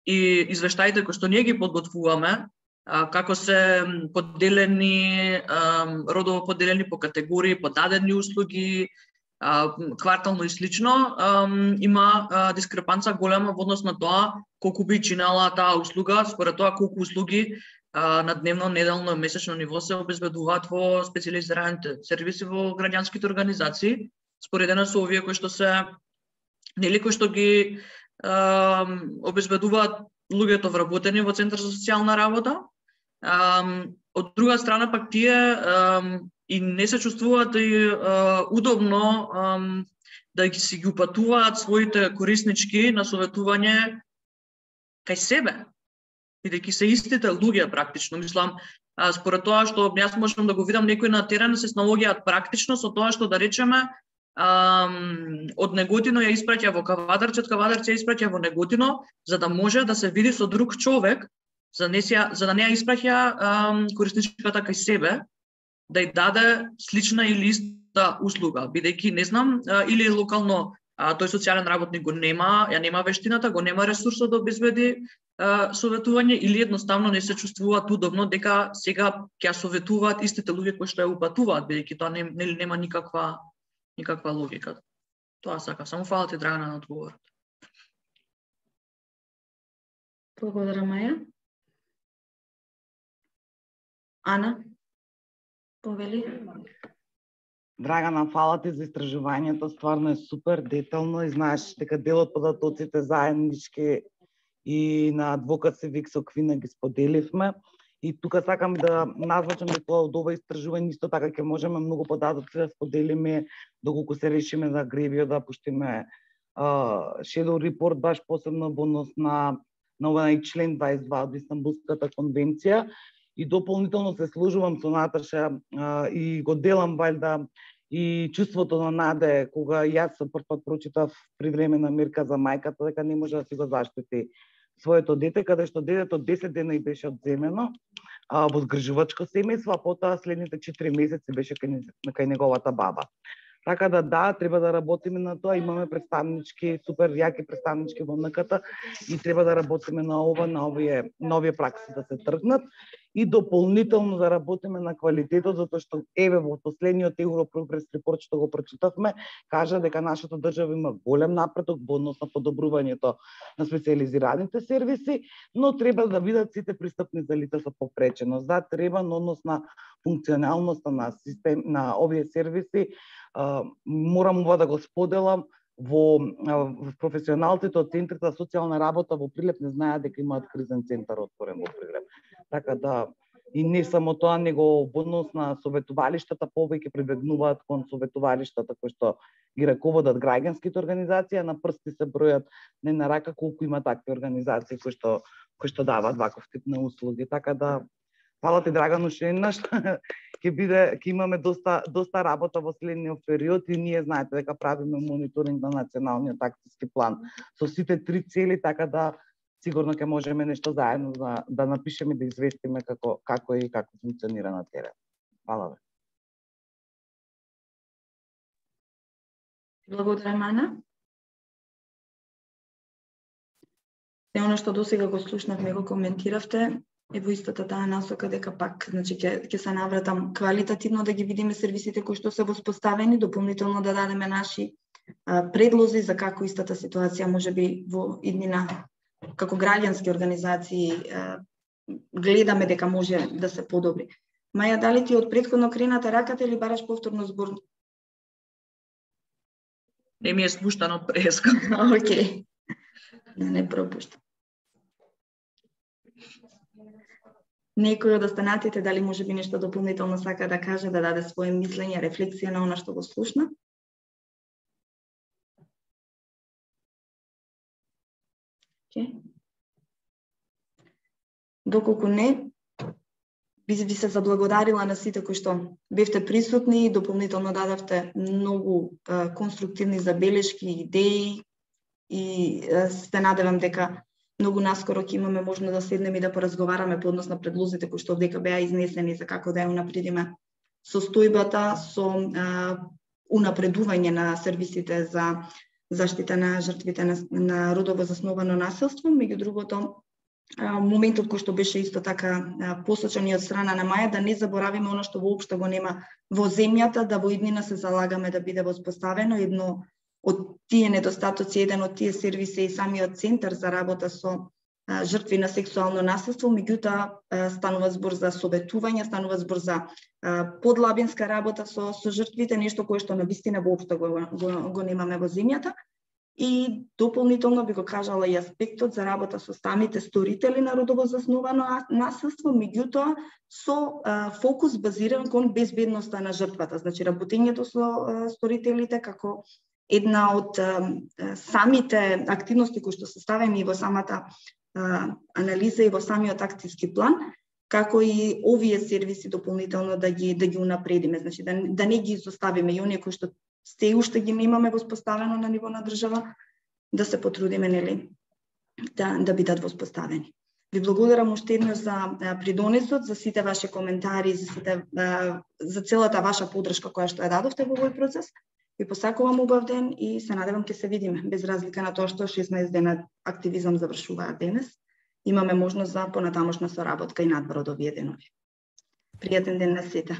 и извештаите кои што ние ги подготвуваме, како се поделени, родово поделени по категории, по дадени услуги, квартално и слично, има дискрепанца голема во однос на тоа колку би чинела таа услуга, според тоа колку услуги на дневно, неделно, месечно ниво се обезбедуваат во специјализираните сервиси во граѓанските организации, споредено со овие кои што се, нели, кои што ги обезбедуваат луѓето вработени во Центар за социјална работа. Um, од друга страна пак тие um, и не се чувствуваат и uh, удобно um, да ги си ги упатуваат своите кориснички на советување кај себе, бидејќи се истите луѓе практично. Мислам, А, според тоа што јас можам да го видам некои на терен се снаоѓаат практично со тоа што да речеме Um, од Неготино ја испраќа во Кавадарче, од Кавадарче ја испраќа во Неготино, за да може да се види со друг човек, за, не се, за да не ја испраќа um, корисничката кај себе, да ја даде слична или иста услуга, бидејќи не знам, uh, или локално uh, тој социјален работник го нема, ја нема вештината, го нема ресурсот да обезбеди uh, советување, или едноставно не се чувствуваат удобно дека сега ќе советуваат истите луѓе кои што ја упатуваат, бидејќи тоа не, не, нема никаква никаква логика. Тоа сака. Само фала ти, Драгана, на одговорот. Благодарам, Маја. Ана, повели. Драгана, фала ти за истражувањето, стварно е супер детално и знаеш дека дел од податоците заеднички и на Адвокат Сивик со Квина ги споделивме. И тука сакам да назвачам дека од ова истражување исто така ќе можеме многу податоци да споделиме доколку се решиме за Гревио да пуштиме uh, shadow report баш посебно во однос на на овој член дваесет и два од Истанбулската конвенција и дополнително се служувам со Наташа uh, и го делам валјда и чувството на наде кога јас за прв пат прочитав при време на мерка за мајката дека не може да си го заштити своето дете, каде што детето десет дена и беше одземено а, во згрижувачко семејство, а потоа следните четири месеци беше кај, кај неговата баба. Така да да, треба да работиме на тоа, имаме представнички, супер јаки представнички во ен ка те и треба да работиме на ова, на овие нови пракси да се тргнат и дополнително да работиме на квалитетот, затоа што еве во последниот Европрогрес репорт што го прочитавме, кажа дека нашата држава има голем напредок во однос на подобрувањето на специјализираните сервиси, но треба да видат сите пристапни за лица со попреченост. Да, треба на однос на функционалноста на систем на овие сервиси. Uh, морам ова да го споделам во, uh, во професионалците од центрите за социјална работа во Прилеп не знаат дека имаат кризен центар отворен во Прилеп. Така да и не само тоа, него во однос на советувалиштата повеќе прибегнуваат кон советувалиштата кои што ги раководат граѓанските организации, а на прсти се бројат не на рака колку има такви организации кои што кои што даваат ваков тип на услуги. Така да фала ти, Драгано, уште еднаш. Ќе биде, ќе имаме доста доста работа во следниот период и ние знаете дека правиме мониторинг на националниот акциски план со сите три цели, така да сигурно ќе можеме нешто заедно да, да напишеме, да известиме како како и како функционира на терен. Фала ве. Благодарам, Ана. Се она што досега го слушнавме, го коментиравте, е во истата таа насока дека пак, значи ќе ќе се навратам квалитативно да ги видиме сервисите кои што се воспоставени, дополнително да дадеме наши а, предлози за како истата ситуација може би во иднина како граѓански организации а, гледаме дека може да се подобри. Маја, дали ти од претходно крената раката или бараш повторно збор? Не ми е спуштано преска. Океј. Не, не пропуштам. Некој од останатите дали може би нешто дополнително сака да каже, да даде своје мислење, рефлексија на она што го слушна? Okay. Доколку не, би ви се заблагодарила на сите кои што бевте присутни и дополнително дадавте многу а, конструктивни забелешки, идеи и а, се надевам дека многу наскоро ќе имаме можност да седнеме и да поразговараме по однос на предлозите кои што овдека беа изнесени за како да ја унапредиме состојбата со а, унапредување на сервисите за заштита на жртвите на, на родово засновано насилство. Меѓу другото, а, моментот кој што беше исто така а, посочен и од страна на Маја, да не заборавиме оно што воопшто го нема во земјата, да во иднина се залагаме да биде воспоставено едно од тие недостатоци, еден од тие сервиси и самиот центар за работа со а, жртви на сексуално насилство, меѓутоа станува збор за советување, станува збор за а, подлабинска работа со, со жртвите, нешто кое што навистина воопшто го, го, го немаме во земјата. И дополнително би го кажала и аспектот за работа со самите сторители на родово засновано насилство, меѓутоа со а, фокус базиран кон безбедноста на жртвата, значи работењето со а, сторителите како една од а, самите активности кои што се ставени во самата а, анализа и во самиот акцијски план, како и овие сервиси дополнително да ги да ги унапредиме, значи да да не ги изоставиме и оние кои што се уште ги немаме воспоставено на ниво на држава, да се потрудиме, нели, да да бидат воспоставени. Ви благодарам уште еднаш за придонесот, за сите ваши коментари, за сите за целата ваша поддршка која што ја дадовте во овој процес. Ви посакувам убав ден и се надевам ќе се видиме, без разлика на тоа што шеснаесет дена активизам завршуваат денес. Имаме можност за понатамошна соработка и надвор од овие денови. Пријатен ден на сите.